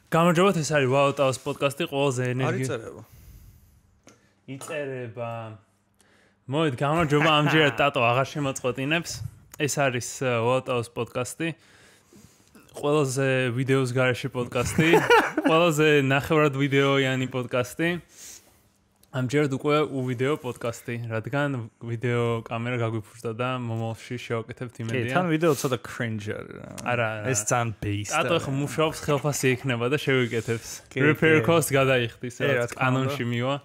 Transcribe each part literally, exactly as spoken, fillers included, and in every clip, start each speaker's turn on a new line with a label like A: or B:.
A: გამარჯობათ, ეს არის ვაუტაუს პოდკასტი, ყველაზე ენერგი.
B: არ იწერება.
A: იწერება. მოვიდ, გამარჯობა, ამჯერად ტატო აღარ შემოწყვეტინებს. ეს არის ვაუტაუს პოდკასტი. ყველაზე ვიდეოს გარეშე პოდკასტი. ყველაზე ნახევრად ვიდეოიანი პოდკასტი. ამჯერად უკვე უვიდეო პოდკასტი, რადგან ვიდეო კამერა გაგვიფუჭდა და მომავალში შევაკეთებთ იმედია.
B: კი, თან ვიდეო ცოტა cringe არის.
A: არა,
B: ეს ძალიან base.
A: ტატო ახლა მუშაობს ხელფასი იქნება და შევიკეთებს. Repair cost გადაიხდის, რაც კანონში მივა.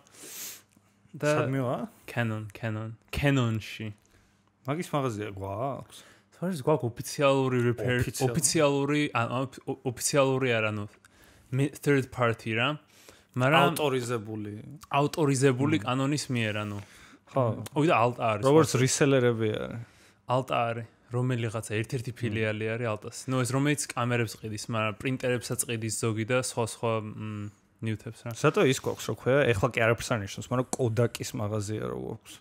A: და
B: სად მივა?
A: Canon, Canon, Canon-ში.
B: მაგის მაღაზია გვაქვს?
A: თორეს გვაქვს ოფიციალური repair, ოფიციალური, ოფიციალური არა, ნუ third party რა. მაგრამ
B: ავტორიზებული.
A: ავტორიზებული კანონის მიერ, ანუ.
B: ხო.
A: ოი და ალტა არის.
B: როგორც რისელერები არის.
A: ალტა არის. რომელიღაცა ერთ-ერთი ფილიალი არის ალტას. ნუ ეს რომელიც კამერებს ყიდის, მაგრამ პრინტერებსაც ყიდის ზოგი და სხვა სხვა ნიუთებს რა.
B: სათო ის გვაქვს რო ქვია, ეხლა კი არაფერს არ ნიშნავს, მაგრამ Kodak-ის მაღაზია რო გვაქვს.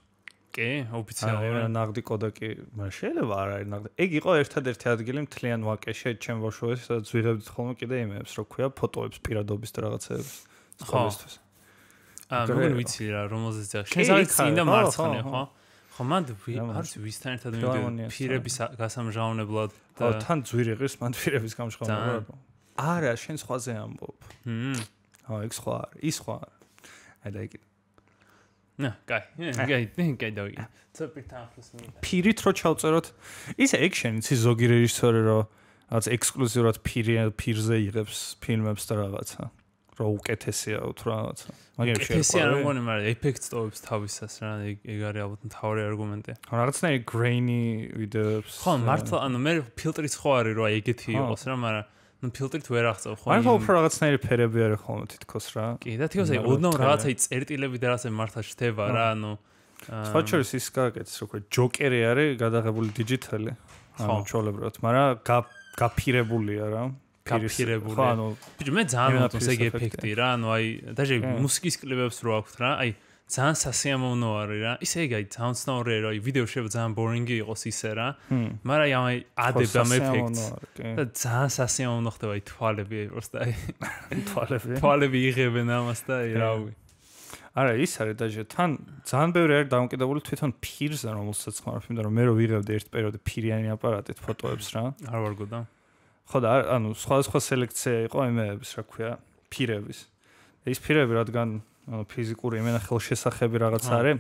A: კი, ოფიციალური.
B: აი, ნაღდი Kodak-ი, მაგრამ შეიძლება არ არის ნაღდი. ეგ იყო ერთადერთი ადგილი მთლიან ვაკეში, ჩემ ბავშვობაში, სადაც ვიღებდით ხოლმე კიდე იმებს, რო ქვია, ფოტოებს, პირადობის და რაღაცეებს.
A: ხოლმესთვის. აა, მოგონი ვიცი რა, რომელზეც ახ. შეიძლება წინ და მარცხნე, ხო? ხო, მანდ არც ვისთან ერთად მივიდე პირების გასამჟღავნებლად
B: და თან ძვირი ღირს, მანდ პირების გამჟღავნებლად. არა, შენ სხვაზე ამბობ.
A: ჰმ.
B: ხო, ეგ სხვა არის, ის სხვა არის. აი და იგი.
A: ნა, კაი, კაი, კაი დავი. ცოტა ახლოს მივიდა.
B: პირით რო ჩავწეროთ, ისე ექშენი, იცი ზოგი რეჟისორი რო რაღაც ექსკლუზიურად პირზე იღებს ფილმებს და რაღაცა. რო უკეთესია თუ რაღაცა.
A: მაგერ შეიძლება. ეს არ მგონი, მაგრამ ეფექტს ტოვებს თავისას რა, ეგ არის ალბათ მთავარი არგუმენტი.
B: ხო, რაღაცნაირი grainy ვიდეოებს.
A: ხო, მართლა, ანუ მე ფილტრიც ხო არის რა, ეგეთი იყოს რა, მაგრამ ნუ ფილტრით ვერ აღწევ ხო.
B: მაგრამ უფრო რაღაცნაირი ფერები არის ხოლმე თითქოს რა.
A: კი, და თითქოს აი ოდნავ რაღაცა წერტილები და რაღაცა მართლა შთება რა, ანუ
B: სხვა შორის ის გაკეთეს რო ქვია, ჯოკერი არის გადაღებული დიჯიტალი. ანუ ჩოლებრად, მაგრამ გაფირებულია რა.
A: გაფირებული. ხო, ანუ ბიჭო, მე ძალიან მომწონს ეგ ეფექტი რა, ანუ აი, დაჟე მუსიკის კლიპებს რო აქვთ რა, აი ძალიან სასიამოვნო არის რა. ისე ეგ აი ძალიან ცნაური რა, აი ვიდეო შეიძლება ძალიან ბორინგი იყოს ისე რა. მაგრამ აი ადებ ამ ეფექტს და ძალიან სასიამოვნო ხდება აი თვალები აი პროსტა აი
B: თვალები.
A: თვალები იღებენ ამას და აი რავი.
B: არა, ის არის დაჟე თან ძალიან ბევრი არის დამოკიდებული თვითონ ფირზე, რომელსაც ხმარ ფიმდა რომ მე რო ვიღებდი ერთ პერიოდში ფირიანი აპარატით ფოტოებს რა.
A: არ ვარგო და
B: ხო და ანუ სხვადასხვა სელექცია იყო იმეების, რა ქვია, ფირების. ის ფირები რადგან ანუ ფიზიკური იმენა ხელშესახები რაღაც არის.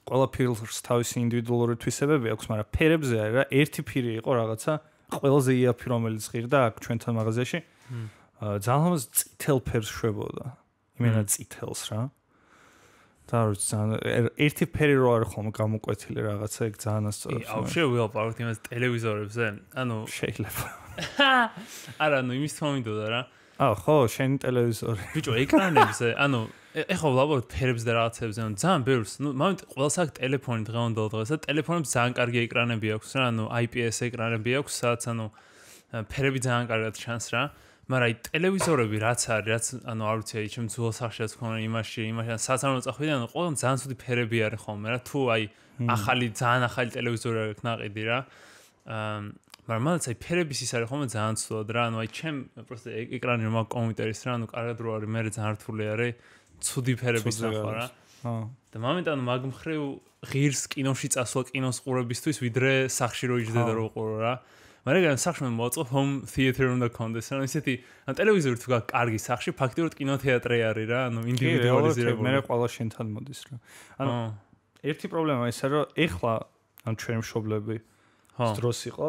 B: ყველა ფირს თავისი ინდივიდუალური თვისებები აქვს, მაგრამ ფერებზე არის რა, ერთი ფირი იყო რაღაცა, ყველაზე იაფი რომელიც ღირდა აქ ჩვენთან მაღაზიაში. ძალიან ლამაზ წითელ ფერს შვებოდა. იმენა წითელს რა. და ძალიან ერთი ფერი რო არის ხოლმე გამოკვეთილი რაღაცა, ეგ ძალიან ასწორებს.
A: აუ, შევივალპაროთ იმას ტელევიზორებზე. ანუ
B: შეიძლება.
A: არა, ნუ იმის თქმა მინდოდა რა.
B: აა, ხო, შენი ტელევიზორი.
A: ბიჭო, ეკრანებზე, ანუ ეხლა ვლაპარაკობ ფერებს და რაღაცებზე, ანუ ძალიან ბევრს, ნუ მომენტ ყველას აქვს ტელეფონი დღევანდელ დღეს და ტელეფონებს ძალიან კარგი ეკრანები აქვს რა, ანუ I P S ეკრანები აქვს, სადაც ანუ ფერები ძალიან კარგად ჩანს რა. მაგრამ აი ტელევიზორები რაც არის, რაც ანუ არ ვიცი, აი ჩემ ძველ სახშიაც ხომ იმაში, იმაში სადაც არ მოწახვიდე, ანუ ყველგან ძალიან ცუდი ფერები არის ხოლმე რა, თუ აი ახალი, ძალიან ახალი ტელევიზორი აქვს ნაყიდი რა. აა მაგრამ მალაც აი ფერების ის არის ხოლმე ძალიან ცუდად რა, ანუ აი ჩემ პროსტა ეკრანი რომ აქვს კომპიუტერის რა, ანუ კარგად რო არის, მე ძალიან რთული არის ცუდი ფერების ნახვა რა.
B: ხო.
A: და მომენტ ანუ მაგ მხრივ ღირს კინოში წასვლა კინოს ყურებისთვის, ვიდრე სახში რო იჯდე და რო ყურო რა. მაგრამ სახში მოაწყო home theater უნდა კონდეს, ანუ ისეთი, ანუ ტელევიზორი თუ გაქვს კარგი სახში, ფაქტიურად კინოთეატრი არის რა, ანუ ინდივიდუალიზირებული.
B: მე ყველა შენთან მოდის რა. ანუ ერთი პრობლემა ისაა, რომ ეხლა ანუ ჩვენ მშობლები დროს იყო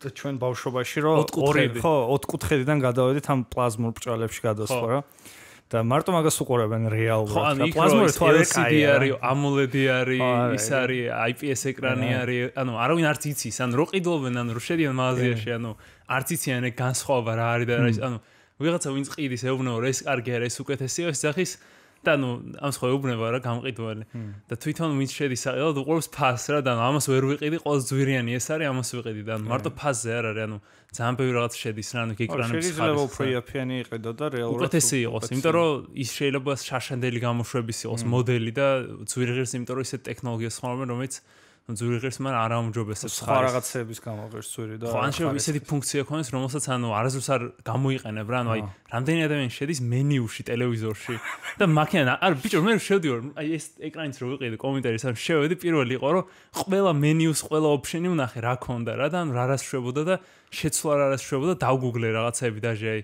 B: და ჩვენ ბავშვობაში რომ ორი ხო ოთხკუთხედიდან გადავედით ამ პლაზმურ ბრჭყალებში გადასვლა რა. და მარტო მაგას უყურებენ რეალურად.
A: პლაზმური თუ L C D არის, AMOLED არის, ის არის, I P S ეკრანი არის, ანუ არავინ არც იცის, ანუ რო ყიდულობენ, ანუ რო შედიან მაღაზიაში, ანუ არც იციან ეგ განსხვავება რა არის და რა ის, ანუ ვიღაცა ვინც ყიდის ეუბნება რომ ეს კარგი არის, ეს უკეთესია, ეს სახის და ნუ ამ სხვა ეუბნება რა გამყიდველი. და თვითონ ვინც შედის საყიდად უყურებს ფასს რა და ამას ვერ ვიყიდი, ყოველს ძვირიანი ეს არის, ამას ვიყიდი და მარტო ფასზე არ არის, ანუ ძალიან ბევრი რაღაც შედის რა, ანუ ეკრანების ხარისხი.
B: შეიძლება უფრო იაფიანი იყიდო და რეალურად
A: უკეთესი იყოს, იმიტომ რომ ის შეიძლება შაშანდელი გამოშვების იყოს მოდელი და ძვირიღირს, იმიტომ რომ ისეთ ტექნოლოგიას ხმარობენ, რომელიც ნუ ძვირი ღირს, მაგრამ არ აუმჯობესებს
B: სხვა რაღაცების გამო ღირს ძვირი და
A: ხო, ან შეიძლება ისეთი ფუნქცია ქონდეს, რომელსაც ანუ არასდროს არ გამოიყენებ რა, ანუ აი რამდენი ადამიანი შედის მენიუში ტელევიზორში და მაქენა არ ბიჭო მე შევდივარ, აი ეს ეკრანიც რო ვიყიდე კომენტარის, ან შევედი პირველი იყო, რომ ყველა მენიუს, ყველა ოფშენი ვნახე რა ქონდა რა და ანუ რა რასშვებოდა და შეცვლა რა რასშვებოდა, დავგუგლე რაღაცები დაჟე აი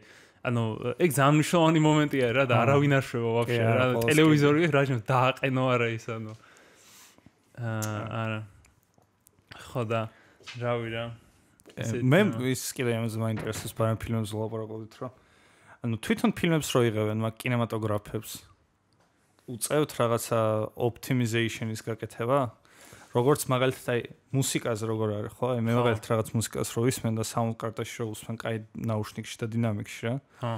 A: ანუ ეგ ძალიან მნიშვნელოვანი მომენტია რა და არავინ არ შვება ვაფშე რა ტელევიზორი რაჟემ დააყენო არა ის ანუ არა ხო და რავი რა
B: მე ის კიდე ამაზე მაინტერესებს ბარემ ფილმებზე ლაპარაკობთ რა ანუ თვითონ ფილმებს რო იღებენ მაგ კინემატოგრაფებს უწევთ რაღაცა optimization-ის გაკეთება როგორც მაგალითად აი მუსიკაზე როგორ არის ხო აი მე მაგალითად რაღაც მუსიკას რო ვისმენ და sound card-ში რო ვისმენ კაი ნაუშნიკში და დინამიკში რა
A: ხო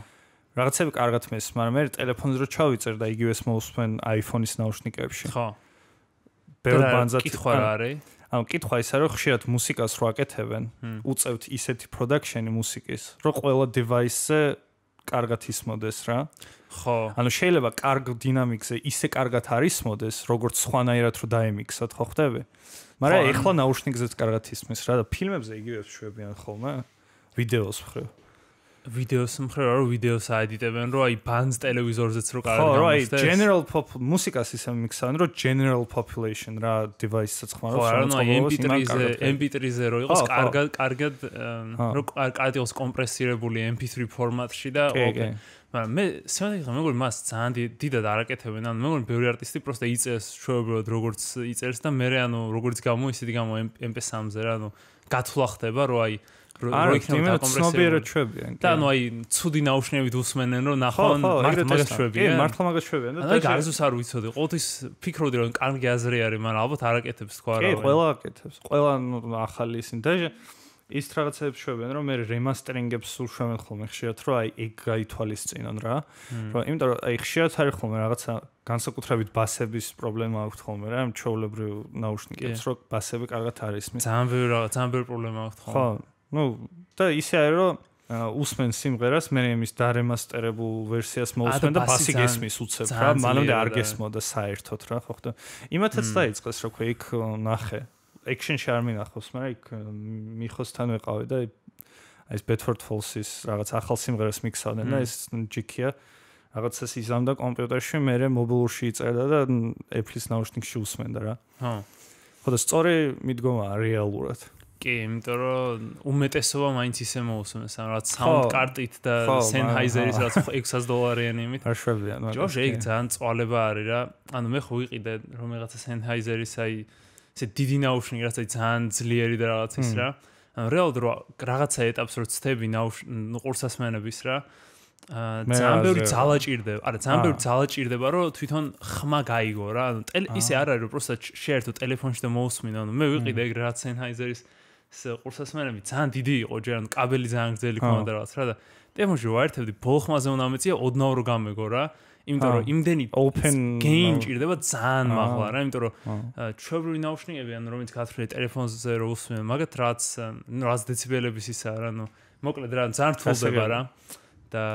B: რაღაცები კარგად მესმის მაგრამ მე ტელეფონზე რო ჩავიწერ და იგივეს მოვსმენ iPhone-ის ნაუშნიკებში
A: ხო
B: ბევრ ბანძად
A: კითხვა რა არის
B: ანუ კითხვა ისე რომ ხშირად მუსიკას რო აკეთებენ უწევთ ისეთი production-ი მუსიკის რომ ყველა device-ზე კარგად ისმოდეს რა
A: ხო
B: ანუ შეიძლება კარგ დინამიკზე ისე კარგად არ ისმოდეს როგორც სხვანაირად რო დაემიქსოთ ხო ხდები მაგრამ ეხლა ნაუშნიკზეც კარგად ისმის რა და ფილმებზე იგივე შვებიან ხოლმე ვიდეოს მხრივ
A: ვიდეოს მხრივ რა ვიდეოს აედიტებენ რომ აი ბანს ტელევიზორზეც რო კარგად
B: გამოსდეს ხო რა აი general pop მუსიკას ისე მიქსავენ რომ general population რა device-საც ხმარობს
A: რომ ემ პი ტრიზე ემ პი ტრიზე რო იყოს კარგად კარგად რო კარგად იყოს კომპრესირებული ემ პი თრი ფორმატში და ოკეი მაგრამ მე სიმართლე მეგონი მას ძალიან დიდად არაკეთებენ ანუ მეგონი ბევრი არტისტი პროსტა იწერს ჩვეულებრივად როგორც იწერს და მე ანუ როგორც გამო ისეთი გამო ემ პი სამზე რა ანუ გათვლა ხდება რომ აი
B: რო იქნება კომპრესირებული ჩვებიან
A: და ანუ აი ცუდი ნაუშნებით უსმენენ რომ ნახონ მართლა მაგას ჩვებიან
B: მართლა მაგას ჩვებიან
A: და აი გარზუს არ ვიცოდი ყოველთვის ფიქრობდი რომ კარგი აზრი არის მაგრამ ალბათ არაკეთებს თქვა რა
B: კი ყველა აკეთებს ყველა ახალი ისინი და ის რაღაცებს შვებენ რომ მე რემასტერინგებს სულ შვებენ ხოლმე ხშირად რომ აი ეგ გაითვალისწინონ რა რომ იმიტომ რომ აი ხშირად არის ხოლმე რაღაცა განსაკუთრებით ბასების პრობლემა აქვს ხოლმე რა ჩვეულებრივ ნაუშნიკებს რომ ბასები კარგად არ ისმის
A: ძალიან ბევრი რაღაც ძალიან ბევრი პრობლემა აქვს ხოლმე
B: ხო ну და ისე არის რომ უსმენ სიმღერას მე იმის დარემასტერებულ ვერსიას მოусმენ და ბასი გესმის უცებ რა მანამდე არ გესმოდა საერთოდ რა ხო ხდა იმათაც დაიწყეს რა ქვია იქ ნახე action-ში არ მინახავს, მაგრამ იქ მიხოსთან ვეყავი და აი ეს Bedford Falls-ის რაღაც ახალ სიმღერას მიქსავდნენ და ეს ჯიქია რაღაცას იზამდა კომპიუტერში, მე მობილურში იწერდა და Apple-ის ნაუშნიკში უსმენდა რა.
A: ხო.
B: ხო და სწორი მიდგომაა რეალურად.
A: კი, იმიტომ რომ უმეტესობა მაინც ისე მოусმენს, ანუ რაც sound card-ით და Sennheiser-ის რაც ექვსას დოლარიანი იმით.
B: არ შვებიან,
A: მაგრამ ჯოშ ეგ ძალიან წვალება არის რა. ანუ მე ხო ვიყიდე რომ რაღაცა Sennheiser-ის აი ესე დიდი ნაუშნიკი რაც აი ძალიან ძლიერი და რაღაც ის რა. ანუ რეალურად რო რაღაცა ეტაპს რო ცდები ნაუშნიკ ყურსასმენების რა. აა ძალიან ბევრი ძალა ჭირდება. არა, ძალიან ბევრი ძალა ჭირდება რომ თვითონ ხმა გაიგო რა. ანუ ისე არ არის რომ პროსტა შეერთო ტელეფონში და მოусმინო. ანუ მე ვიყიდე ეგ რაღაც Sennheiser-ის ეს ყურსასმენები ძალიან დიდი იყო ჯერ ანუ კაბელი ძალიან გრძელი ქონდა რაღაც რა და ტელეფონში ვაერთებდი ბოლო ხმაზე უნდა მეწია ოდნავ რო გამეგო რა. იმიტომ რომ იმდენი open gain ჭირდება ძალიან მაღლა რა, იმიტომ რომ ჩვეულებრივი ნაუშნიკები ანუ რომელიც გათვლილი ტელეფონზე რო უსმენ, მაგათ რაც რაც დეციბელების ისა რა, ანუ მოკლედ რა ძალიან რთულდება რა. და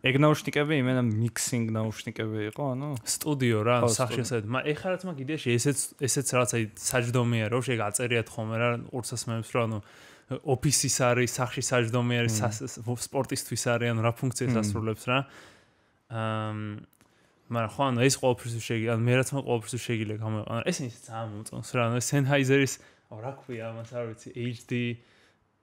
B: ეგ ნაუშნიკები იმენა mixing ნაუშნიკები იყო, ანუ
A: სტუდიო რა, სახში ესეთ. მაგრამ ეხლა რაც მაგ იდეაში ესეც ესეც რაღაც აი საჯდომია რა, შეგ აწერიათ ხოლმე რა ყურსასმენებს რა, ანუ ოფისის არის, სახში საჯდომი არის, სპორტისთვის არის, ანუ რა ფუნქციას ასრულებს რა. აა მაგრამ ხო ანუ ეს ყოველთვის შეგი ანუ მე რაც მე ყოველთვის შეგიძლია გამოიყენა ეს ის ძალიან მომწონს რა ანუ Sennheiser-ის რა ქვია ამას არ ვიცი H D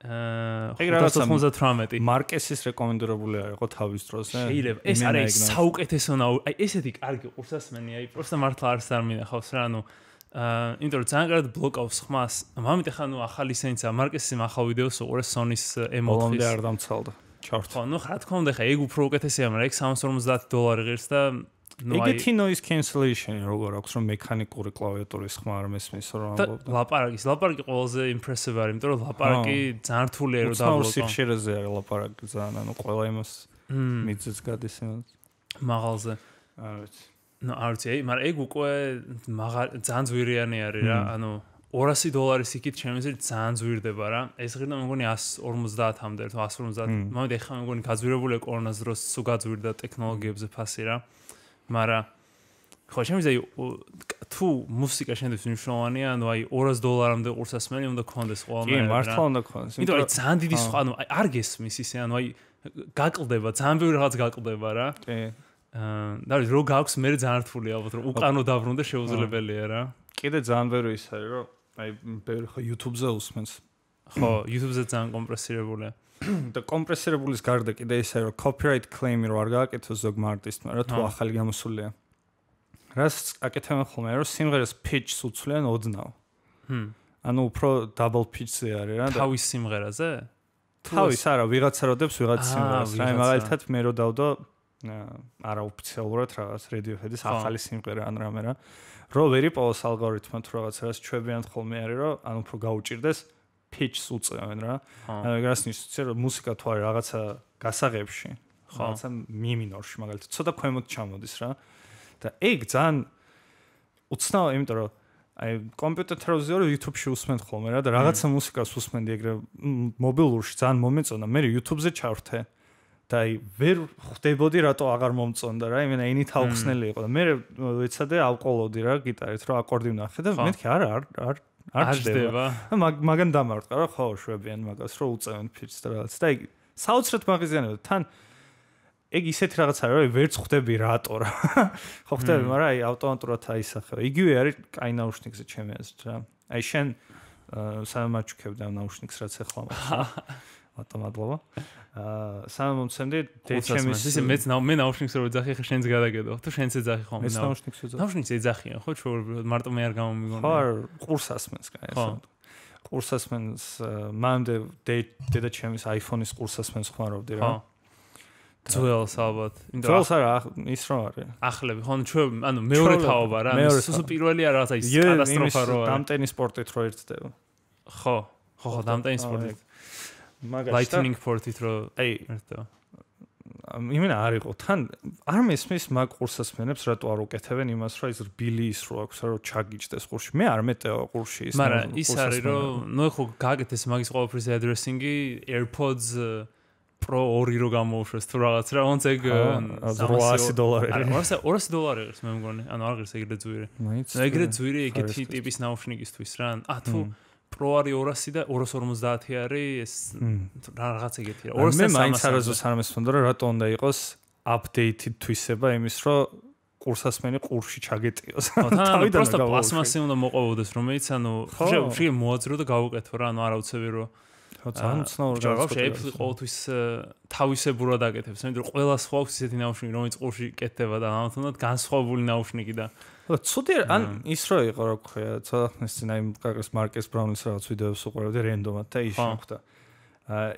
A: აა ხუთას ოცდაოთხმეტი
B: მარკესის რეკომენდირებული არ იყო თავის დროზე
A: შეიძლება ეს არის საუკეთესო აი ესეთი კარგი ყურსასმენი აი პროსტა მართლა არც არ მინახავს რა ანუ აა იმიტომ რომ ძალიან კარგად ბლოკავს ხმას მამით ახლა ნუ ახალი სენსა მარკესის ახალ ვიდეოს უყურე Sony-ს M ოთხის
B: არ დამცალდა ჩავთ.
A: ხო, ნუ რა თქმა უნდა, ხა ეგ უფრო უკეთესია, მაგრამ ეგ სამას ორმოცდაათი დოლარი ღირს და
B: ნუ აი ეგეთი noise cancellation როგორ აქვს რომ მექანიკური კლავიატურის ხმა არ მესმის რომ ამბობ.
A: ლაპარაკის, ლაპარაკი ყველაზე impressive არის, იმიტომ რომ ლაპარაკი ძალიან რთულია რომ დაბლოკო.
B: სიხშირეზე არის ლაპარაკი ძალიან, ანუ ყველა იმას მიძეც გადის იმას.
A: მაღალზე.
B: არ ვიცი.
A: ნუ არ ვიცი, მაგრამ ეგ უკვე ძალიან ძვირიანი არის რა, ანუ ორასი დოლარის იქით შემიძლია ძალიან ზვირდება რა. ეს ღირდა მეგონი εκατს ორმოცდაათამდე, თუ εκατს ორმოცდაათი. მომდი ახლა მეგონი გაძვირებული კორონას დროს სულ გაძვირდა ტექნოლოგიებზე ფასი რა. მაგრამ ხო, შემიძლია თუ მუსიკა შენთვის მნიშვნელოვანია, ანუ აი ორას დოლარამდე ყურსასმენი უნდა გქონდეს ყველანაირად.
B: კი, მართლა უნდა გქონდეს.
A: იმიტომ რომ ძალიან დიდი სხვა, ანუ არ გესმის ისე, ანუ აი გაკლდება, ძალიან ბევრი რაღაც გაკლდება რა.
B: კი.
A: აა, და რო გაქვს მე ძალიან რთული ალბათ რომ უკანო დავრუნდა შეუძლებელია რა.
B: კიდე ძალიან ბევრი ის არის, რომ აი ბევრი ხო YouTube-ზე უსმენს.
A: ხო, YouTube-ზე ძალიან კომპრესირებულია.
B: და კომპრესირებულის გარდა კიდე ის არის, რომ copyright claim-ი რო არ გააკეთოს ზოგმა არტისტმა, რა თუ ახალი გამოსულია. რას აკეთებენ ხოლმე, რომ სიმღერას pitch-ს უცვლიან ოდნავ. ჰმ. ანუ უფრო double pitch-ზე არის რა.
A: თავის სიმღერაზე?
B: თავის არა, ვიღაცა როდებს ვიღაცა სიმღერას. აი მაგალითად მე რო დავდო არაოფიციალურად რაღაც Radiohead-ის ახალი სიმღერა ან რამე რა. რო ვერ იპოვოს ალგორითმმა თუ რაღაცას ჩვევიან ხოლმე არის, რომ ან უფრო გაუჭირდეს pitch-ს უწევენ რა. ანუ ეგ რას ნიშნავს, რომ მუსიკა თუ არის რაღაცა გასაღებში, რაღაცა mi minor-ში მაგალითად, ცოტა ქვემოთ ჩამოდის რა. და ეგ ძალიან უცნაური, იმიტომ რომ აი კომპიუტერ თელევიზორზე YouTube-ში უსმენთ ხოლმე რა და რაღაცა მუსიკას უსმენდი ეგრე მობილურში ძალიან მომეწონა, მე YouTube-ზე ჩავრთე და აი ვერ ხვდებოდი რატო აღარ მომწონდა რა, იმენა ინით აუხსნელი იყო და მე ეცადე ავყოლოდი რა გიტარით, რომ აკორდი ვნახე და მეთქი არა არ არ არ ჯდება. მაგან დამარტყა რა, ხო შვებიან მაგას, რომ უწევენ pitch-ს და რაღაც და აი საოცრად მაღიზიანებდა თან ეგ ისეთი რაღაც არის, რომ ვერც ხვდები რატო რა. ხო ხვდები, მაგრამ აი ავტომატურად აისახება. იგივე არის კაი ნაუშნიკზე ჩემი აზრით რა. აი შენ სამაჩუქებდა ნაუშნიკს რაც ახლა მაქვს. ავტომატობა. აა სამომცემდი ჩემის
A: ისე მეც მე ნაუშნიკს რო ეძახი ხე შენს გადაგედო. თუ შენც ეძახი ხომ
B: მე ნაუშნიკს ეძახი.
A: ნაუშნიკს ეძახიან ხო ჩვეულებრივად მარტო მე არ გამომიგონია.
B: ხო ყურსასმენს კაი ასე. ყურსასმენს მანამდე დედა ჩემის iPhone-ის ყურსასმენს ხმარავდი რა. ძველს ალბათ. ძველს არა, ის რო არის.
A: ახლები, ხო, ჩვენ, ანუ მეორე თაობა რა, სულ პირველი არა რაღაცა ის კატასტროფა რო არის.
B: დამტენი სპორტით რო ერთდება.
A: ხო, ხო, ხო, დამტენი სპორტით. მაგალითად Lightning Port-ით რო აი ერთდება. იმენა არ იყო, თან არ მესმის მაგ ყურსასმენებს რატო არ უკეთებენ იმას, რომ ის რბილი ის რო აქვს, რომ ჩაგიჭდეს ყურში. მე არ მეტევა ყურში ის. მაგრამ ის არის, რომ ნუ ხო გაგეთეს მაგის ყოველფრის addressing-ი AirPods Pro ორი რო გამოუშვეს თუ რაღაც რა, ոնց ეგ
B: ორასი დოლარი.
A: ორასი დოლარი ღირს მე მგონი. ანუ არ ღირს ეგრე ძვირი. ეგრე ძვირი ეგეთი ტიპის ნაუშნიკისთვის რა. ა თუ Pro არის ორასი და ორას ორმოცდაათი არის ეს რაღაც ეგეთი რა.
B: ორასი სამასი. მე მაინც არაზოს არ მესმოდა რა რატო უნდა იყოს updated თვისება იმის რომ ყურსასმენი ყურში ჩაგეტიოს.
A: თავიდან პროსტა პლასმასი უნდა მოყოვდეს რომელიც ანუ შე მოაძრო და გავუკეთო რა, ანუ არავცები რომ
B: ძალიან უცნაური
A: რაღაცა შეიძლება ყოველთვის თავისებურად აკეთებს, იმიტომ რომ ყველა სხვა აქვს ისეთი ნაუშნიკი, რომელიც ყურში კეთდება და ამათუნდაც განსხვავებული ნაუშნიკი და
B: ცუდი ან ის რო იყო რა ქვია, ცოტა ხნის წინ აი კაკას მარკეს ბრაუნის რაღაც ვიდეოს უყურებდი რენდომად და ის შეხვდა.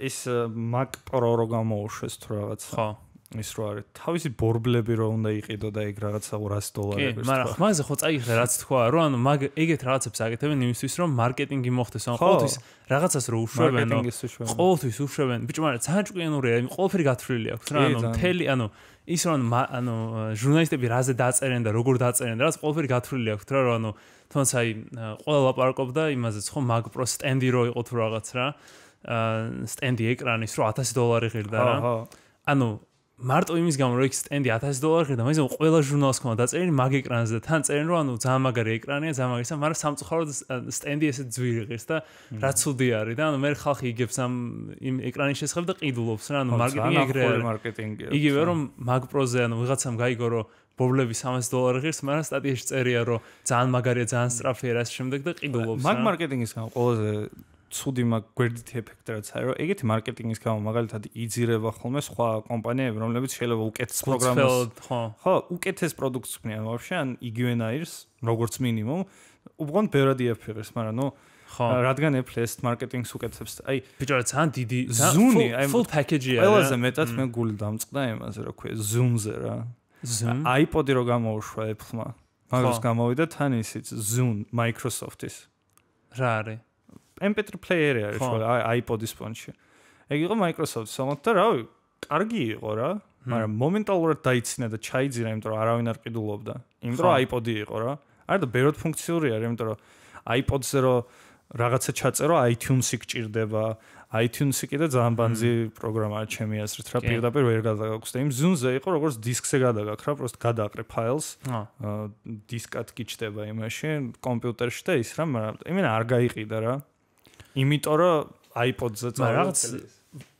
B: ის Mac Pro რო გამოუშვეს თუ რაღაც. ხო. ის რო არის თავისი ბორბლები რო უნდა იყიდო და ეგ რაღაცა ორასი დოლარი
A: არის. კი, მაგრამ ხმაზე ხო წაიღე რაც თქვა, რომ ანუ მაგ ეგეთ რაღაცებს აკეთებენ იმისთვის, რომ მარკეტინგი მოხდეს, ანუ ყოველთვის რაღაცას რო უშვებენ, ყოველთვის უშვებენ. ბიჭო, მაგრამ ძალიან ჭკვიანურია, ყოველფერი გათვლილი აქვს რა, ანუ მთელი, ანუ ის რომ ანუ ჟურნალისტები რაზე დაწერენ და როგორ დაწერენ, რაც ყოველფერი გათვლილი აქვს რა, რომ ანუ თუნდაც აი ყველა ლაპარაკობდა იმაზეც ხო Mac Pro სტენდი რო იყო თუ რაღაც რა. აა სტენდი ეკრანის რო ათასი დოლარი ღირდა რა. ანუ მარტო იმის გამო რომ იქ სტენდი ათასი დოლარი ღირდა, მაგრამ ყველა ჟურნალს ქონდა დაწერილი მაგ ეკრანზე და თან წერენ რომ ანუ ძალიან მაგარი ეკრანია, ძალიან მაგარია, მაგრამ სამწუხაროდ სტენდი ესე ძვირი ღირს და რა ცუდი არის და ანუ მე ხალხი იგებს ამ იმ ეკრანის შესახებ და ყიდულობს რა, ანუ მარკეტინგი ეგრე
B: მარკეტინგია.
A: იგივე რომ Mac Pro-ზე ანუ ვიღაცამ გაიგო რომ ბობლები სამასი დოლარი ღირს, მაგრამ სტატიაში წერია რომ ძალიან მაგარია, ძალიან სწრაფია რა შემდეგ და ყიდულობს რა.
B: მაგ მარკეტინგის გამო ყველაზე ცუდი მაგ გვერდითი ეფექტი რაც არის, რომ ეგეთი მარკეტინგის გამო მაგალითად იძირება ხოლმე სხვა კომპანიები, რომლებიც შეიძლება უკეთეს პროგრამას,
A: ხო,
B: ხო, უკეთეს პროდუქტს ქმნიან ვაფშე, ან იგივენაირს, როგორც მინიმუმ, უბრალოდ ბევრად იაფიღებს, მაგრამ ნუ ხო, რადგან Apple ეს მარკეტინგს უკეთებს, აი,
A: ბიჭო, ძალიან დიდი
B: ზუნი, აი,
A: full package-ია.
B: ყველაზე მეტად მე გული დამწყდა იმაზე, რა ქვია, Zoom-ზე რა.
A: Zoom.
B: iPod-ი რო გამოუშვა Apple-მა. მაგას გამოვიდა თან ისიც Zoom Microsoft-ის.
A: რა არის?
B: em pê três player-ი არის ხო, iPod-ის ფონში. ეგ იყო Microsoft-ის, თუმცა და რავი, კარგი იყო რა, მაგრამ მომენტალურად დაიცინა და ჩაიძინა, იმიტომ რომ არავინ არ ყიდულობდა. იმიტომ რომ iPod-ი იყო რა. არა და ბევრად ფუნქციური არის, იმიტომ რომ iPod-ზე რო რაღაცა ჩაწერო iTunes-ი გჭირდება. iTunes-ი კიდე ძალიან ბანძი პროგრამაა ჩემი აზრით, რა პირდაპირ ვერ გადაგაქვს და იმ Zune-ზე იყო როგორც დისკზე გადაგაქ რა, პროსტ გადააყრე ფაილს. დისკად გიჩდება იმაში, კომპიუტერში და ის რა, მაგრამ იმენა არ გაიყიდა რა. იმიტომ რომ iPod-ზე
A: წავედი.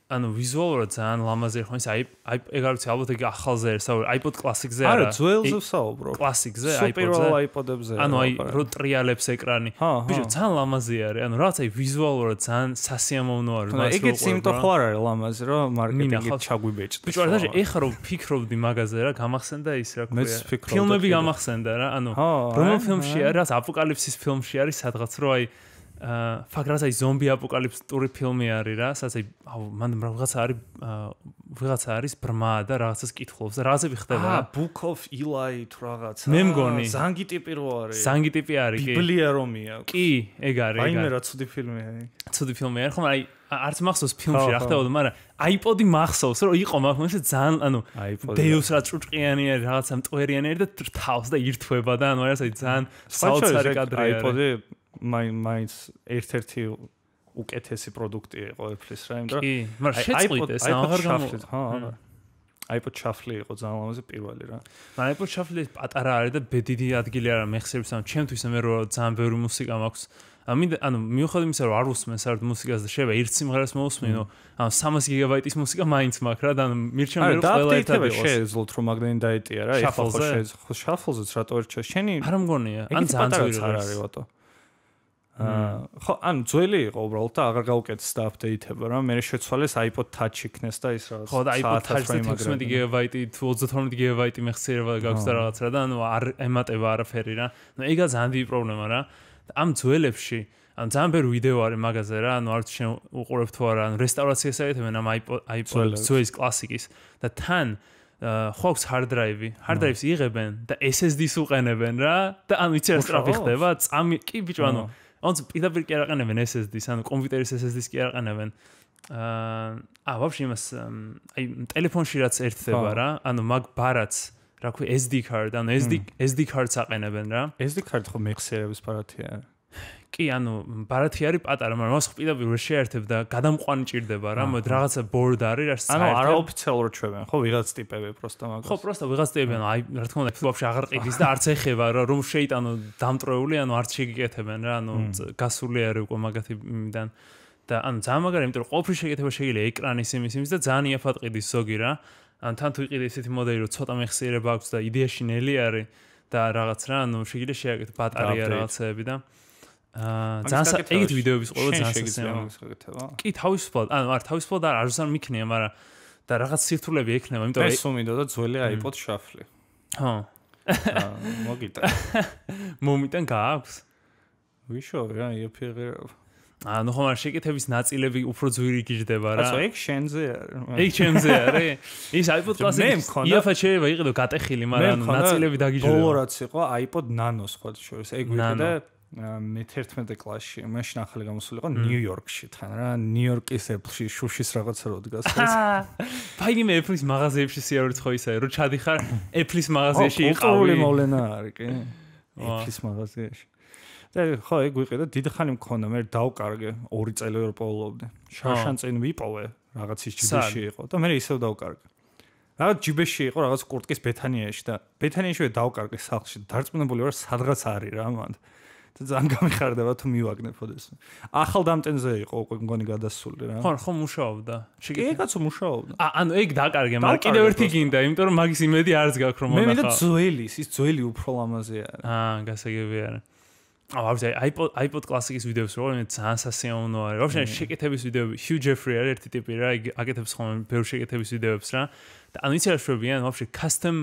A: ანუ ვიზუალურად ძალიან ლამაზი ხო ის აი აი ეგ არის ალბათ ეგ ახალზე არის iPod Classic-ზე არა
B: არა ძველზე ვსაუბრო
A: Classic-ზე
B: iPod-ზე iPod-ებზე
A: ანუ აი რო ტრიალებს ეკრანი ბიჭო ძალიან ლამაზი არის ანუ რაღაც აი ვიზუალურად ძალიან სასიამოვნო არის
B: მას რო ეგეც იმიტომ ხო არ არის ლამაზი რომ მარკეტინგით ჩაგვიბეჭდ
A: ბიჭო არა და ეხა რო ფიქრობდი მაგაზე რა გამახსენდა ის რა ქვია ფილმები გამახსენდა რა ანუ რომელ ფილმში არის რაღაც აპოკალიფსის ფილმში არის სადღაც რო აი აა ფაქრას აი ზომბი აპოკალიფსური ფილმი არის რა, სადაც აი აუ მან რაღაცა არის ვიღაცა არის ბრმა და რაღაცას კითხულობს და რაღაცები ხდება რა.
B: აა Book of Eli თუ რაღაცა.
A: მე მგონი.
B: ზანგი ტიპი რო არის.
A: ზანგი ტიპი არის კი.
B: ბიბლია რომი აქვს.
A: კი, ეგ არის, ეგ არის.
B: აი მე რა ცუდი ფილმია.
A: ცუდი ფილმი არის, ხომ აი არც მახსოვს ფილმში რა ხდებოდა, მაგრამ iPod-ი მახსოვს რომ იყო მაგას ძალიან ანუ Deus რა ჭუჭყიანი არის, რაღაცა მტვერიანი არის და თავს და ირთვება და ანუ არის აი ძალიან საოცარი კადრი არის.
B: iPod-ი მაინ მაინც ერთ-ერთი უკეთესი პროდუქტი იყო Apple-ის რა, იმიტომ
A: კი, მაგრამ შეწყვიტეს აღარ გამოვიდა.
B: ჰა, არა. iPod Shuffle იყო ძალიან ლამაზი პირველი რა.
A: მაგრამ iPod Shuffle პატარა არის და ბედიდი ადგილი არა მეხსიერებს, ანუ ჩემთვის მე რო ძალიან ბევრი მუსიკა მაქვს. ამინდა ანუ მიუხედავად იმისა რომ არ უსმენ საერთოდ მუსიკას და შეიძლება ერთ სიმღერას მოусმინო, ანუ სამას გიგაბაიტის მუსიკა მაინც მაქვს რა და ანუ მირჩემ მე რო ყველა ერთად იყოს.
B: შეეძლოთ რომ მაგდენი დაეტია რა, ეხლა ხო შეეძლო Shuffle-ზეც რატო ვერ ჩა შენი
A: არ მგონია, ან ძალიან ძვირი
B: არ არის ვატო. აა ხო ან ძველი იყო უბრალოდ და აღარ გაუკეთეს და აპდეიტება რა მე შეცვალეს iPod Touch იქნეს და ის რაღაც
A: ხო და iPod Touch-ზე ექვსმეტი გიგაბაიტი თუ ოცდათორმეტი გიგაბაიტი მეხსიერება გაქვს და რაღაც რა და ანუ არ ემატება არაფერი რა ნუ ეგა ძალიან დიდი პრობლემა რა ამ ძველებში ან ძალიან ბევრი ვიდეო არის მაგაზე რა ანუ არც შენ უყურებ თუ არა ანუ რესტავრაციას აეთებენ ამ iPod iPod ძვლის კლასიკის და თან ხო აქვს hard drive-ი, hard drive-ს იღებენ და S S D-ს უყენებენ რა და ანუ იცი რა სწრაფი ხდება, წამი კი ბიჭო ანუ ანუ პირდაპირ კი არ აყენებენ S S D-ს, ანუ კომპიუტერის S S D-ს კი არ აყენებენ. აა აა ვაფშე იმას აი ტელეფონში რაც ერთდება რა, ანუ მაგ ბარაც რა ქვია S D card, ანუ S D S D card-ს აყენებენ რა.
B: S D card ხო მეხსიერების ბარათია.
A: კი, ანუ ბარათი არის პატარა, მაგრამ მას პირდაპირ ვერ შეერთებ და გადამყვანი ჭირდება რა, მოდი რაღაცა board არის, რა საერთოდ.
B: ანუ არაოფიციალურად ჩვევენ, ხო, ვიღაც ტიპები პროსტა მაგას.
A: ხო, პროსტა ვიღაც ტიპები, ანუ აი, რა თქმა უნდა, ვაფშე აღარ ყიდის და არც ეხება რა, რომ შეიტანო დამტრეული, ანუ არც შეგიკეთებენ რა, ანუ გასული არის უკვე მაგათი იმიდან. და ანუ ძალიან მაგარი, იმიტომ რომ ყოველთვის შეგეთება შეიძლება ეკრანის იმის იმის და ძალიან იაფად ყიდის ზოგი რა. ან თან თუ იყიდე ესეთი მოდელი, რომ ცოტა მეხსიერება აქვს და იდეაში ნელი არის და რაღაც რა, ანუ შეიძლება შეაკეთო ბატარეა რაღაცეები და აა ძალიან ეგეთ ვიდეოების ყოველ ძალიან
B: შესაძლოა.
A: კი, თავისუფლად, ანუ არ თავისუფლად არ ზარ მიქნია, მაგრამ და რაღაც სირთულეები ექნება, იმიტომ
B: რომ ეს უმიდო და ძველი iPod Shuffle.
A: ხო.
B: აა მოგიტან.
A: მომიტან გააქვს?
B: ვიშოვე რა, იაფიღე.
A: ანუ ხომ არ შეკეთების ნაწილები უფრო ძვირი გიждდება რა.
B: ასე ეგ შენზე არის.
A: ეგ შენზე არის. ის iPod Classic იაფად შეიძლება იყიდო გატეხილი, მაგრამ ნაწილები დაგიждდება.
B: ბოლო რაც იყო iPod Nano სხვა შორის. ეგ ვიყიდა მე თერთმეტე კლასში, მაშინ ახალი გამოსული იყო ნიუ-იორკში თან რა, ნიუ-იორკის Apple-ში შუშის რაღაცა რო დგას.
A: ფაინი მე Apple-ის მაღაზიებში სიავრით ხო ისაა, რომ ჩადიხარ Apple-ის მაღაზიაში იყავი.
B: კულტურული მოვლენა არის კი. Apple-ის მაღაზიაში. და ხო ეგ ვიყიდა დიდი ხანი მქონდა მე დავკარგე ორი წელი რო პოულობდი შარშან წინ ვიპოვე რაღაც ის ჯიბეში იყო და მე ისევ დავკარგე რაღაც ჯიბეში იყო რაღაც კურტკის ბეთანიაში და ბეთანიაშივე დავკარგე სახლში დარწმუნებული ვარ სადღაც არის რა მანდ და ძალიან გამიხარდება თუ მივაგნებ ოდეს ახალ დამტენზე იყო უკვე მგონი გადასული რა
A: ხო ხო მუშაობდა
B: შეგე კაცო მუშაობდა
A: ანუ ეგ დაკარგე მაგრამ კიდევ ერთი გინდა იმიტომ რომ მაგის იმედი არც გაქვს რომ
B: მონახა მე მინდა ძველი ის ძველი უფრო ლამაზი არის
A: აა გასაგები არის აა ვაფშე iPod iPod Classic-ის ვიდეოს რო მე ძალიან სასიამოვნო არის. ვაფშე შეკეთების ვიდეოები Hugh Jeffrey არის ერთი ტიპი რა, იგი აკეთებს ხოლმე ბევრ შეკეთების ვიდეოებს რა. და ანუ იცი რა შვებიან, ვაფშე custom